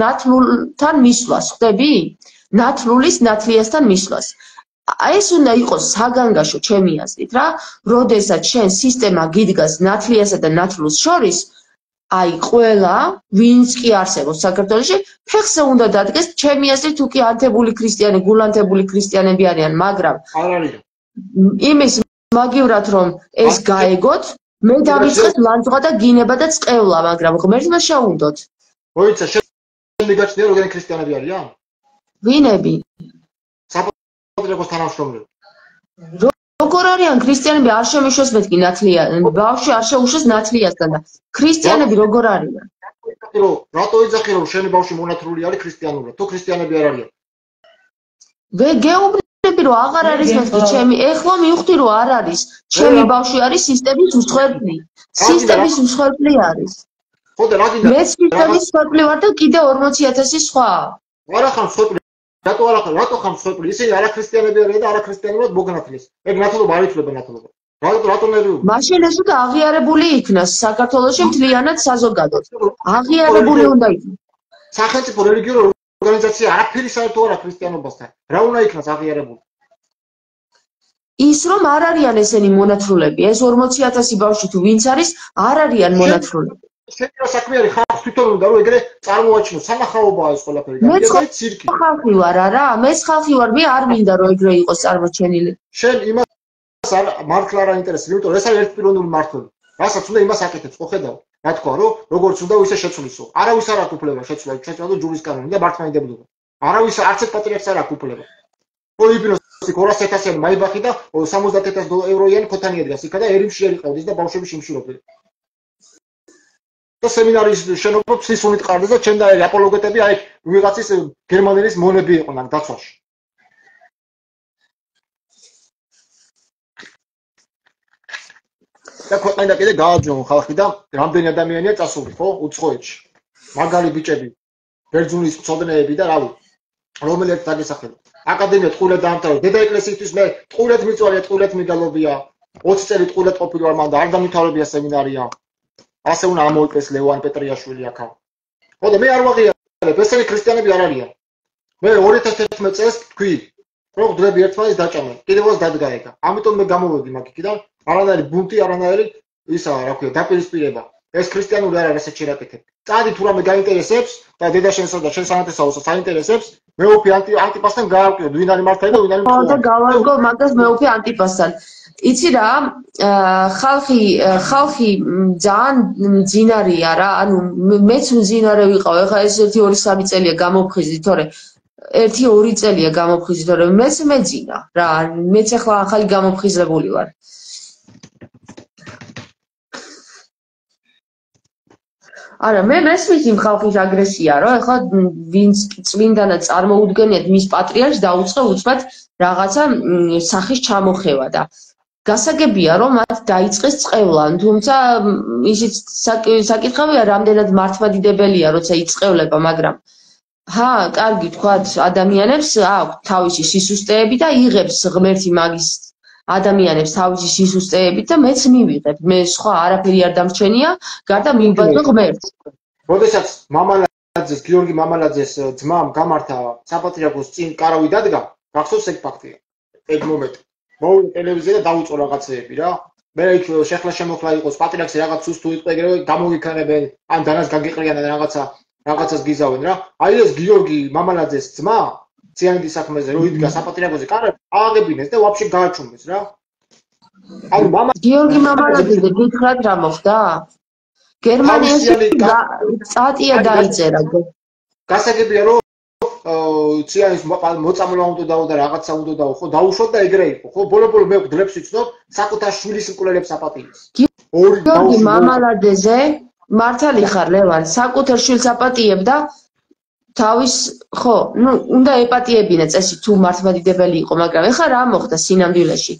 ნათლულთან მისვლას, ხვდები? ნათლულის ნათლიასთან მისვლას. ეს უნდა იყოს საგანგაშო ჩემი აზრით რა. როდესაც შენ სისტემა გიდგას ნათლიასა და ნათლულს შორის, აი ყველა ვინც კი არსებობს საქართველოში ფეხზე უნდა დადგეს ჩემი აზრით თუ კი ანთებული ქრისტიანი გულანთებული ქრისტიანები არიან მაგრამ არ არის იმის მაგივრად რომ ეს გაეგოთ მე დავიწყეთ ლანძღვა და გინება და წყევლა მაგრამ ღმერთმა შეუნდოთ მოიცა შენ მიგაჩნია როგორი ქრისტიანები არიან ვინები საპატრიარქოს თანამშრომლები როგორ არიან ქრისტიანები არ შემიშვეს მეთქი ნათლია ბავშვი არ შეუშვეს ნათლიასთან და ქრისტიანები როგორ არიან რატო იძახი რომ შენი ბავშვი მონათლული არის ქრისტიანულად თუ ქრისტიანები არ არიან გეუბნები რომ აღარ არის მეთქი ჩემი ეხლა მივხვდი რომ არ არის ჩემი ბავშვი არის სისტემის მსხვერპლი არის ხო და რა გინდა მე სისტემის მსხვერპლი ვარ და კიდე 40000 სხვა არა ხარ მსხვერპლი რატო ხარ მსხვერპლი? ისინი არაქრისტიანები არიან და არაქრისტიანებად მოგნათლეს. ეგ ნათლობა არ ითვლება ნათლობა. რატო ნერვიულობ? მაშინ ეს უნდა აღიარებული იქნას საქართველოში მთლიანად საზოგადოდ. აღიარებული უნდა იქნას. სახელმწიფო რელიგიური ორგანიზაცია არაფერი საერთო არა ქრისტიანობასთან. რა უნდა იქნას აღიარებული? ის რომ არ არიან ესენი მონათლულები, ეს 40,000 ბავშვი თუ ვინც არის, არ არიან მონათლულები. შენ საქმე არის ხალხს თვითონ უნდა რომ ეგრე წარმოაჩინოს, სანახაობაა ეს ყველაფერი. მე ცირკი. ხალხი ვარ არა, მეც ხალხი ვარ, მე არ მინდა რომ ეგრე იყოს წარმოჩენილი. შენ იმას არ მართლა არ აინტერესებს, იმიტომ რომ ეს არის ერთპიროვნული მართლობა. რასაც უნდა იმას აკეთებს, ხო ხედავ? რა თქვა რომ როგორც უნდა ისე შეცვლისო. არავის არ აქვს უფლება შეცვლა და ჯურის კანონი და მართლმადიდებლობა. არავის არც ერთ პატრიარქს არ აქვს უფლება. პოლიპინოს 200,000 მაიბახი და 70,000 ევროიანი ქოთანი ედგას იქა და ერიმში ერიყავდეს და ბავშვები შიმშილობდნენ. და სემინარის შენობა ფსისუნით ყარდეს და ჩემ და აპოლოგეტები აი ვიღაცის გერმანელის მონები იყვნენ აქ დაცვაში. და ქვეყანა კიდე გააჯონ ხალხი და რამდენი ადამიანია წასული, ხო? უცხოეთში. მაგარი ბიჭები, ბერძნულის მცოდნეები და რავი, რომელიც დაგესახება. აკადემია ტყუილად დაამთავრა. დედა ეკლესიისთვის მე ტყუილად მიწვია, ტყუილად მიგალობია. 20 წელი ტყუილად ყოფილი ვარ მან და არ დამთავრებია სემინარია. ასე უნდა ამოიკლეს ლევან პეტრიაშვილი აქა. ხო და მე არ ვაღიარებ, ესენი ქრისტიანები არ არიან. მე 2011 წელს თქვი, რომ დღეები ერთმანეთს დაჭამენ. კიდევაც დადგა ეგა. ამიტომ მე გამოვედი მაგიქიდან. არანაირი ბუნტი, არანაირი ისა, რა ქვია, დაპირისპირება. ეს ქრისტიანული არ არის, ესეც შერაკეთებ. წადი თუ რამე გაინტერესებს და დედა შენსა და შენ სანათესაოსა საინტერესებს, მე უფი ანტიპასთან გაავკიოთ, ვინ არის მართალი და ვინ არის ხო და გავარგო მაგას მე უფი ანტიპასთან. იცი რა, ხალხი ძალიან მძინარია რა, ანუ მეც მძინარე ვიყავ, ეხლა ეს 1-2 წელია გამოფხიზდი, თორე 1-2 წელია გამოფხიზდი, თორე მეც მეძინა რა, მეც ახლა ახალი გამოფხიზებული ვარ. არა, მე მესმის იმ ხალხის აგრესია, რომ ეხლა ვინც წმინდანად წარმოუდგენიათ მის პატრიარქს დაუწყე უცბად რაღაცა სახის ჩამოხევა და გასაგებია, რომ მათ დაიწყეს წყევლა, თუმცა ისიც საკითხავია, რამდენად მართლმადიდებელია, როცა იწყევლება, მაგრამ კარგი თქვათ, ადამიანებს აქვს თავისი სისუსტეები და იღებს ღმერთი მაგის ადამიანებს თავისი სისუსტეებით და მეც მივიღებ. მე სხვა არაფერი არ დამრჩენია, გარდა მივიბადო ღმერთს. როდესაც მამალაძეს, გიორგი მამალაძეს ძმამ გამართა საპატრიარქოს წინ კარავი დადგა, გახსოვს ეგ ფაქტია. ეგ მომენტი. მოვიდა ტელევიზია და დაუწყო რაღაცეები რა. მე იქ შეხლა შემოხლა იყოს პატრიარქს რაღაც სუსტ უიტყვე ეგრევე გამოგიქანებენ, ან დანას გაგიყრიან და რაღაცას გიზავენ რა. აი ეს გიორგი მამალაძეს ძმა ციანდის საქმეზე რო იდგა საპატრიარქოზე კარავი, ააღებინეს და ვაფშე გააჩუმეს რა. აი მამა გიორგი მამალაძე გითხრათ რა მოხდა? გერმანიაში სტატია დაიწერა. გასაგებია რომ ციანის მოწამლა უნდა დაო და რაღაცა უნდა დაო, ხო დაუშვათ და ეგრე იყო, ხო ბოლო-ბოლო მე გძლებს იცნობ საკუთარ შვილის მკვლელებს აპატიებს. გიორგი მამალაძეზე მართალი ხარ ლევან, საკუთარ შვილს აპატიებ და თავის ხო, უნდა ეპატიებინა წესი თუ მართლმადიდებელი იყო, მაგრამ ეხლა რა მოხდა სინამდვილეში?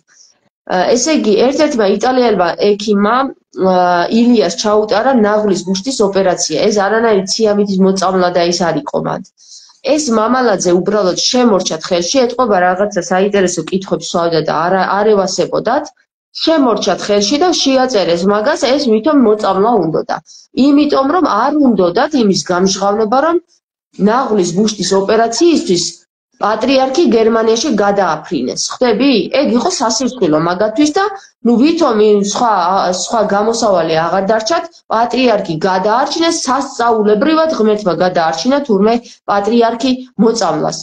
ესე იგი, ერთ-ერთმა იტალიელმა ექიმმა ილიას ჩაუტარა ნაღლის ბუშტის ოპერაცია. ეს არანაირი ციამეთის მოწამლა და ის არ იყო მათ. ეს მამალაძე უბრალოდ შემორჩათ ხელში, ეთყობა რაღაცა საინტერესო კითხვებს სვავდა და არ ევასებოდათ. შემორჩათ ხელში და შეაწერეს მაგას, ეს ვითომ მოწამლა უნდოდა. იმიტომ რომ არ უნდოდათ იმის გამჟღავნება, რომ ნაღლის ბუშტის ოპერაციისთვის პატრიარქი გერმანიაში გადააფრინეს. ხვდები? ეგ იყო სასირთულო მაგათთვის და ვითომ სხვა გამოსავალი აღარ დარჩათ, პატრიარქი გადაარჩინეს, სასწაულებრივად ღმერთმა გადაარჩინა თურმე პატრიარქი მოწამლას.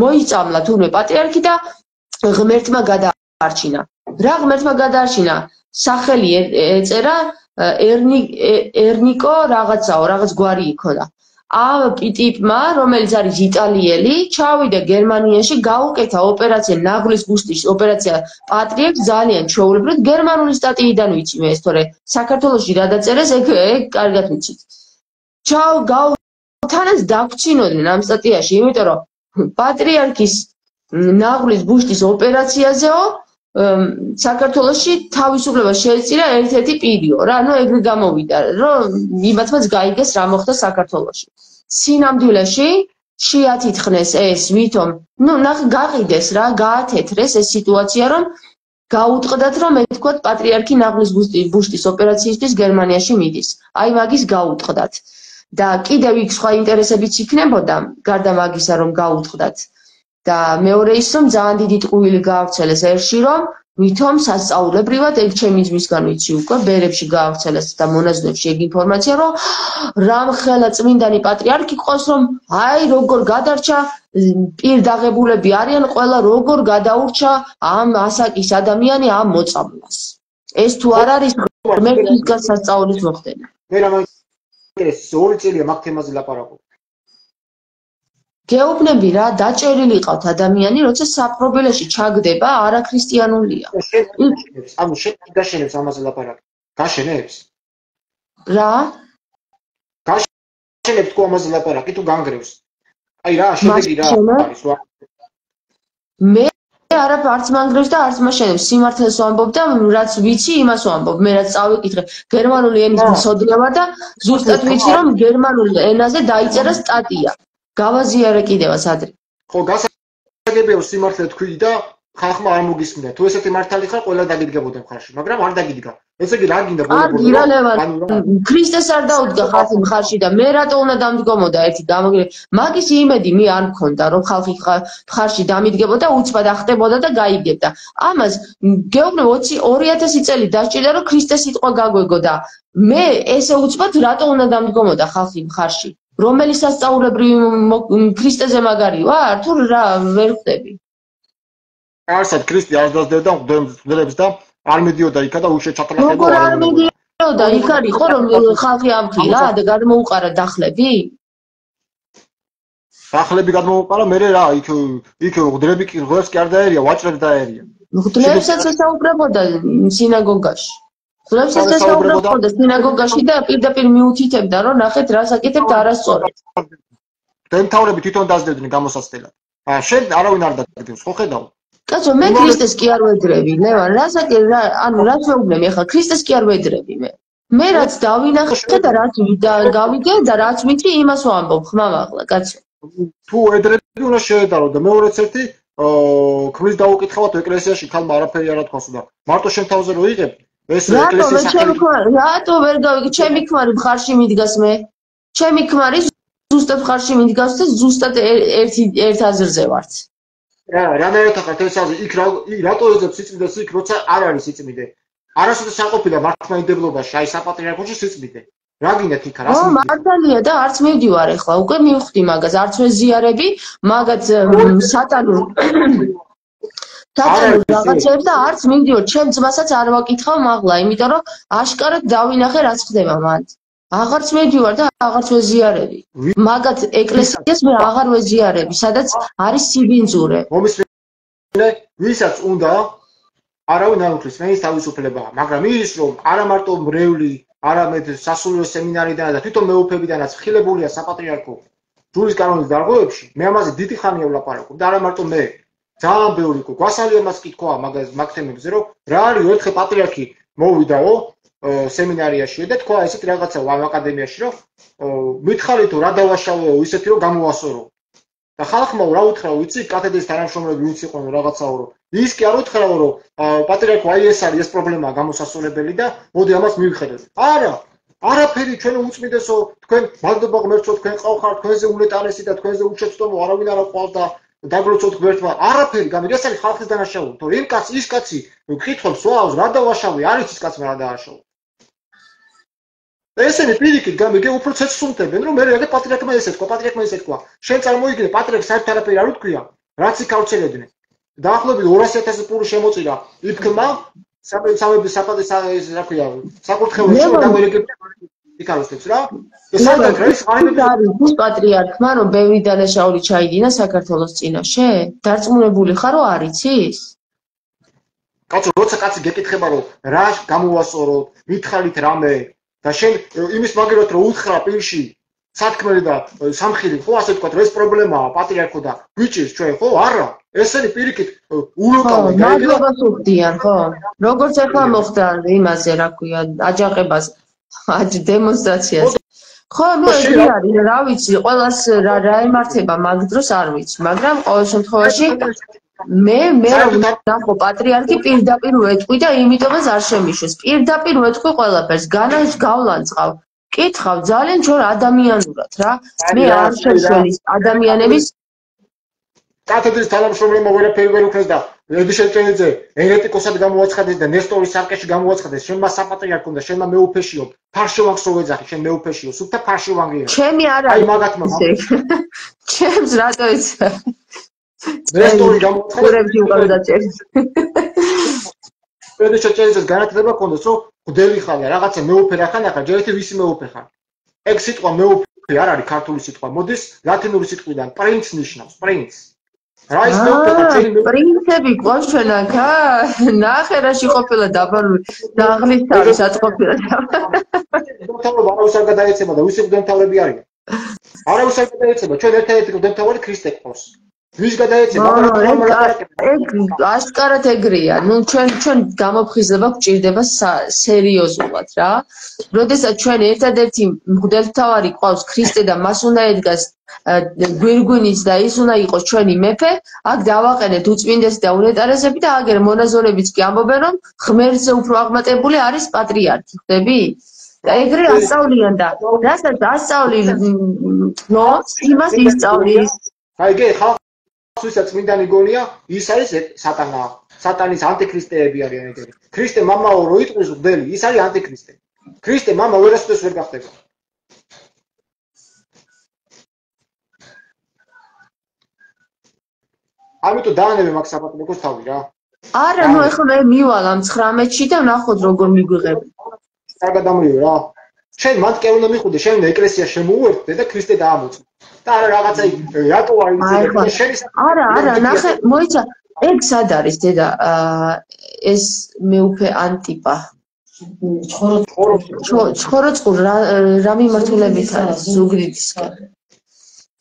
მოიწამლა თურმე პატრიარქი და ღმერთმა გადაარჩინა. რა ღმერთმა გადაარჩინა? სახელი ეწერა ერნიკო რაღაცაო, რაღაც გვარი იქოდა. ტიპმა, რომელიც არის იტალიელი, ჩავიდა გერმანიაში, გაუკეთა ოპერაცია, ნაღლის ბუშტის ოპერაცია პატრიარქს ძალიან ჩვეულებრივად გერმანული სტატიიდან ვიცი მე ეს, თორე საქართველოში რა დაწერეს, ეგ კარგად ვიცით. თანაც დაგვრჩინოდნენ ამ სტატიაში, იმიტომ რომ პატრიარქის ნაღლის ბუშტის ოპერაციაზეო საქართველოში თავისუფლებას შეეწირა ერთ-ერთი პირიო რა, ეგრე გამოვიდა, რომ იმათმაც გაიგეს რა მოხდა საქართველოში. სინამდვილეში შეათითხრეს ეს, ვითომ, ნახე გაყიდეს რა, გაათეთრეს ეს სიტუაცია, რომ გაუტყდათ, რომ ეთქვათ პატრიარქი ნაღლის ბუშტის ოპერაციისთვის გერმანიაში მიდის. აი მაგის გაუტყდათ. და კიდევ იქ სხვა ინტერესებიც იქნებოდა, გარდა მაგისა, რომ გაუტყდათ. და მეორე ის, რომ ძალიან დიდი ტყუილი გაავრცელეს ერში, რომ ვითომ სასწაულებრივად ეგ ჩემი ძმისგან ვიცი უკვე ბერებში გაავრცელეს და მონაზვნებში ეგ ინფორმაცია, რომ რამხელა წმინდანი პატრიარქი ყავს, რომ აი როგორ გადარჩა პირდაღებულები არიან ყველა როგორ გადაურჩა ამ ასაკის ადამიანი ამ მოწამვლას. ეს თუ არ არის მე მისგან სასწაულის მოხდენა. მე რა მაინტერესებს 2 წელია მაგ თემაზე ლაპარაკობ. გეუბნები რა, დაჭერილი ყავთ ადამიანი, როცა საპრობელეში ჩაგდება, არაქრისტიანულია. ანუ შენ გაშენებს ამაზე ლაპარაკი. გაშენებს? რა? გაშენებს თუ ამაზე ლაპარაკი თუ განგრევს? აი რა, შედეგი რა არის რა? მე არც მანგრევს და არც მაშენებს, სიმართლეს ვამბობ და რაც ვიცი, იმას ვამბობ. მე რაც წავიკითხე, გერმანული ენის მცოდნე ვარ და ზუსტად ვიცი, რომ გერმანულ ენაზე დაიწერა სტატია. გავაზიარე კიდევაც ადრე. ხო, გასაგებია სიმართლე თქვი და ხალხმა არ მოგისმინდა. თუ ესეთი მართალი ხარ, ყველა დაგიდგებოდა მხარში, მაგრამ არ დაგიდგა. ესე იგი რა გინდა ბოლო-ბოლო? არა, ლევან, ქრისტეს არ დაუდგა ხალხი მხარში და მე რატო უნდა დამდგომოდა ერთი გამოგრე. მაგის იმედი მე არ მქონდა, რომ ხალხი მხარში დამიდგებოდა, უცბად ახტებოდა და გაიგებდა. ამას გეუბნებ 2000 წელი დასჭირდა, რომ ქრისტეს სიტყვა გაგვეგოდა. მე ესე უცბად რატო უნდა დამდგომოდა ხალხი მხარში? რომელი სასწაულებრივი ქრისტეზე მაგარი ვარ? თუ რა ვერ ხვდები? არსად ქრისტე არ დაძდევდა მღვდლებს და არ მედიოდა იქა და უშე ჩათლახება როგორ არ მედიოდა? იქ არისო რომ ხალხი ამხილა და გადმოუყარა დახლები? დახლები გადმოუყარა, მე რა იქ მღვდლები კი მღვდლებს კი არ დაერია, ვაჭრებს დაერია. მღვდლებსაც ესაუბრებოდა სინაგოგაში. მღვდლებსაც ესაუბრებოდა სინაგოგაში და პირდაპირ მიუთითებდა, რომ ნახეთ რას აკეთებთ არასწორად. დემთავრები თვითონ დაძდებდნენ გამოსაცდელად. შენ არავინ არ დაგდევს, ხო ხედავ? კაცო, მე ქრისტეს კი არ ვედრები, ლევან, ანუ რაც მეუბნები ახლა, ქრისტეს კი არ ვედრები მე. მე რაც დავინახე და რაც გავიგე და რაც ვიცი, იმას ვამბობ, ხმამაღლა, კაცო. თუ ედრები უნდა შეედარო და მეორეც ერთი ქმრის დაუკითხავთ ეკლესიაში, ხალმა არაფერი არ ათქვას და მარტო შენ თავზე რო იღებ, ეს ეკლესიის რატო ვერ გავიგე, ჩემი ქმარი მხარში მიდგას მე. ჩემი ქმარი ზუსტად მხარში მიდგას და ზუსტად ერთ აზრზე ვართ. რანაირად ახლა თესაზე იქ რატო ეძებს სიწმიდეს იქ როცა არ არის სიწმიდე? არასოდეს არ ყოფილა მართლმადიდებლობაში, აი საპატრიარქოში სიწმიდე. რა გინდათ იქ რას? მართალია და არც მივდივარ ახლა, უკვე მივხვდი მაგას, არც ვეზიარები, მაგაც სატანურ რაღაცებს და არც მივდივარ, ჩემ ძმასაც არ ვაკითხავ მაღლა, იმიტომ რომ აშკარად დავინახე რაც ხდება მანდ. აღარც მივდივარ და აღარც ვეზიარები. მაგათ ეკლესიას მე აღარ ვეზიარები, სადაც არის სიბინძურე. მომისმენე, ვისაც უნდა არავინ არ უხლის, მეის თავისუფლებაა, მაგრამ ის რომ არა მარტო მრევლი, არამედ სასულიერო სემინარიდან და თვითონ მეუფებიდანაც ხილებულია საპატრიარქო ჯურის კანონის დარღვევებში, მე ამაზე დიდი ხანია ვლაპარაკობ და არა მარტო მე. ძალიან ბევრი გვასალია მას კითხვა მაგ თემებზე, რომ რა არის ერთხელ პატრიარქი მოვიდაო სემინარიაში და თქვა ესეთ რაღაცა ამ აკადემიაში, რომ მითხარი თუ რა დავაშავეო ისეთი რომ გამოვასორო. და ხალხმა რა უთხრა, ვიცი, კათედრის თანამშრომლები ვინც იყვნენ რაღაცაო, რომ ის კი არ უთხრა, რომ პატრიარქო აი ეს არის ეს პრობლემაა გამოსასწორებელი და მოდი ამას მივიხედოთ. არა, არაფერი ჩვენ უწმიდესო, თქვენ მადლობა ღმერთო, თქვენ ყავხართ, თქვენზე ულეტარესი და თქვენზე უჩვეულო არავინ არ ყავს და დაგლოცოთ ღმერთმა. არაფერი, გამიგე ეს არის ხალხის დანაშაული, თორე იმ კაცს ის კაცი კითხავს, ვაუს, რა დავაშავე, არის ის კაცმა რა დააშავა. ესენი პირიქით გამიგე უფრო ცეცხლსუნთებენ, რომ მე რა პატრიარქმა ესე თქვა, პატრიარქმა ესე თქვა. შენ წარმოიდგინე პატრიარქს საერთოდ არაფერი არ უთქვია, რაც იქ ავრცელებდნენ. დაახლოებით 200,000 პური შემოწირა იქმა სამების საპატის რა ქვია, საკურთხეველში და გამერეკებდა იქალოსებს რა. ეს საერთოდ არის არის პატრიარქმა, რომ ბევრი დანაშაული ჩაიდინა საქართველოს წინაშე? დარწმუნებული ხარ, რომ არ იცის? კაცო, როცა კაცი გეკითხება, რომ რა გამოვასწოროთ, მითხარით რამე და შენ იმის მაგერად რომ უთხრა პირში სათქმელი და სამხილი, ხო, ასე ვთქვათ, რომ ეს პრობლემაა პატრიარქო და გვიჭირს ჩვენ, ხო? არა. ესენი პირიქით ულოკავენ, მადლობას უხდიან, ხო? როგორც ახლა მოხდა იმაზე, რა ქვია, აჯანყებაზე, დემონსტრაციაზე. ხო, ნუ ეგრე არის, რა ვიცი, ყველას რა ემართება მაგ დროს არ ვიცი, მაგრამ ყოველ შემთხვევაში მე ნახო პატრიარქი პირდაპირ ვეთქვი და იმიტომაც არ შემიშვეს. პირდაპირ ვეთქვი ყველაფერს, გავლანძღავ. კითხავ ძალიან ჩვენ ადამიანურად რა. მე არ შეშველის ადამიანების კათედრის თანამშრომლებმა ვერაფერი ვერ უქნეს და ედიშეჭენიძე ენეტიკოსად გამოაცხადეს და ნესტორის სარკეში გამოაცხადეს, შენმა საპატრიარქო და შენმა მეუფეშიო, ფარშოვანს რო ვეძახი, შენ მეუფეშიო, სუფთა ფარშოვანგია. ჩემი არ არის. აი მაგათმა. ჩემს რატო იცი? ნესტორი გამოაცხადეს. ედიშეჭენიძეს განათლება ჰქონდეს, რომ გდელი ხარ და რაღაცა მეუფე რა ხარ, ახლა ჯერ ერთი ვისი მეუფე ხარ. ეგ სიტყვა მეუფე არ არის ქართული სიტყვა, მოდის ლათინური სიტყვიდან პრინც ნიშნავს, პრინც. რაის მეუფე ხარ, ჩემი მეუფე. პრინცები გვაქვს ჩვენ აქ, ნახე რაში ყოფილა დაბალული, დაღლის თავისად ყოფილა. მთავრობა არავის არ გადაეცემა და ვისი მდელმთავრები არიან? არავის არ გადაეცემა, ჩვენ ერთადერთი მდელმთავარი ქრისტე ყავს. ვის გადაეცემა? ეგ აშკარად ეგრეა. ნუ ჩვენ გამოფხიზლება გვჭირდება სერიოზულად რა. როდესაც ჩვენ ერთადერთი მღვდელმთავარი ყავს ქრისტე და მას უნდა ედგას გვირგვინიც და ის უნდა იყოს ჩვენი მეფე, აქ დავაყენეთ უწმინდესი და უნეტარესები და აგერ მონაზონებიც კი ამბობენ, რომ ღმერთზე უფრო აღმატებული არის პატრიარქი, ხვდები? და ეგრე ასწავლიან და რასაც ასწავლი იმას ისწავლის. აი გე ხალხ ვისაც წმინდანი გონია, ის არის სატანა. სატანის ანტიქრისტეები არიან ეგრე. ქრისტე მამაო რო იტყვის მღვდელი, ის არის ანტიქრისტე. ქრისტე მამა ვერასოდეს ვერ გახდება. ამიტომ დაანებე მაგ საპატრიარქოს თავი რა. არა, ნუ ეხლა მე მივალ ამ 19-ში და ნახოთ როგორ მიგვიღები. კარგად დამრივე რა. შენ მანდ უნდა მიხუდე, შენ ეკლესია შემოუერთდე და ქრისტე დაამოწმე. და არა რაღაცა რატო არ იცი? არა, ნახე, მოიცა, ეგ სად არის დედა? ეს მეუფე ანტიპა. ჩხოროწყურ რა მიმართულებით არის ზუგდიდისკენ.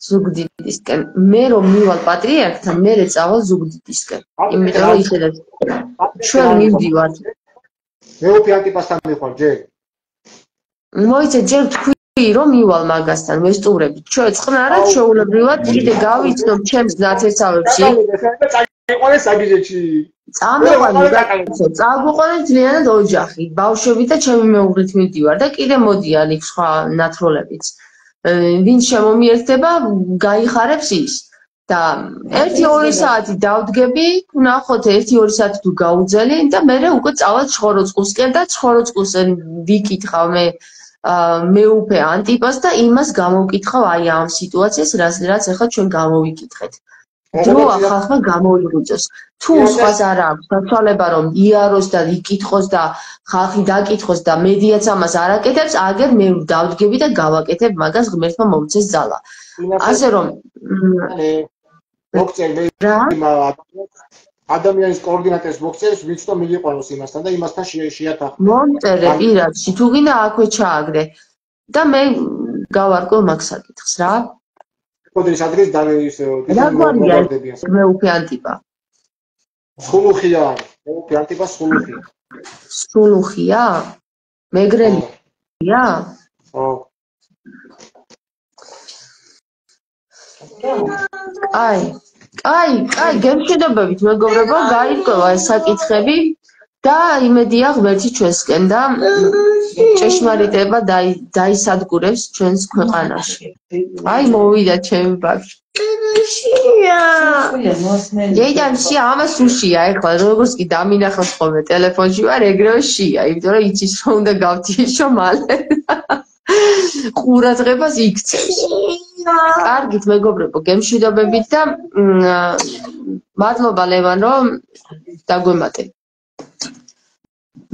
ზუგდიდისკენ. მე რომ მივალ პატრიარქთან, მე წავალ ზუგდიდისკენ. იმიტომ რომ იხედეთ. ჩვენ მივდივართ. მეუფე ანტიპასთან მიხვალ ჯერ. მოიცა ჯერ თქვი რომ მივალ მაგასთან ვესტუმრებით. ჩვენ წყნარად შეულებრივად კიდე გავიცნობ ჩემს ნათესავებში. წაიყვანე საგიჟეში. წაგვიყვანე ძლიერ ოჯახი, ბავშვები და ჩემი მეუღლით მივდივარ და კიდე მოდიან იქ სხვა ნათროლებიც. ვინც შემომიერთდება, გაიხარებს ის. და 1-2 საათი დავდგები, ნახოთ 1-2 საათი თუ გაუძელი და მე უკვე წავალ ჩხოროწყურსკენ და ჩხოროწყურსკენ ვიკითხავ მე მეუფე ანტიპას და იმას გამოვკითხავ აი ამ სიტუაციას, რაც ახლა ჩვენ გამოვიკითხეთ. დროა ხალხმა გამოიღვიძოს. თუ სხვას არ აქვს საშუალება რომ იაროს და იკითხოს და ხალხი დაკითხოს და მედიაც ამას არ აკეთებს, აგერ მე დავდგები და გავაკეთებ მაგას ღმერთმა მომცეს ძალა. ასე რომ მოგწერე ადამიანის კოორდინატებს მოგწერს, ვინც თო მიგიყვანოს იმასთან და იმასთან შეათახო. მომწერე პირადში, თუ გინდა აქვე ჩააგდე და მე გავარკვევ მაგ საკითხს რა. კოდრის ადრეს დაგვარდებიან. მეუფე ანტიპა. სულუხია, მეუფე ანტიპა სულუხია. სულუხია? მეგრელია? ხო. აი, გემშვიდობებით მეგობრებო, გაირკვევა ეს საკითხები და იმედია ღმერთი ჩვენსკენ და ჭეშმარიტება დაისადგურებს ჩვენს ქვეყანაში. აი მოვიდა ჩემი ბავშვი. შეია, ამას უშია ეხლა, როგორც კი დამინახავს ხოლმე ტელეფონში ვარ, ეგრევე შია, იმიტომ რომ იცის რომ უნდა გავთიშო მალე. ყურადღებას იქცევს. კარგით მეგობრებო, გემშვიდობებით და მადლობა ლევან რომ დაგვემატე.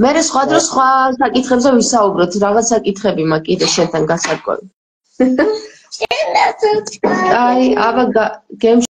მე სხვა დროს სხვა საკითხებზე ვისაუბროთ, რაღაც საკითხები მაქვს კიდე შენთან გასარკვევი. აი, აბა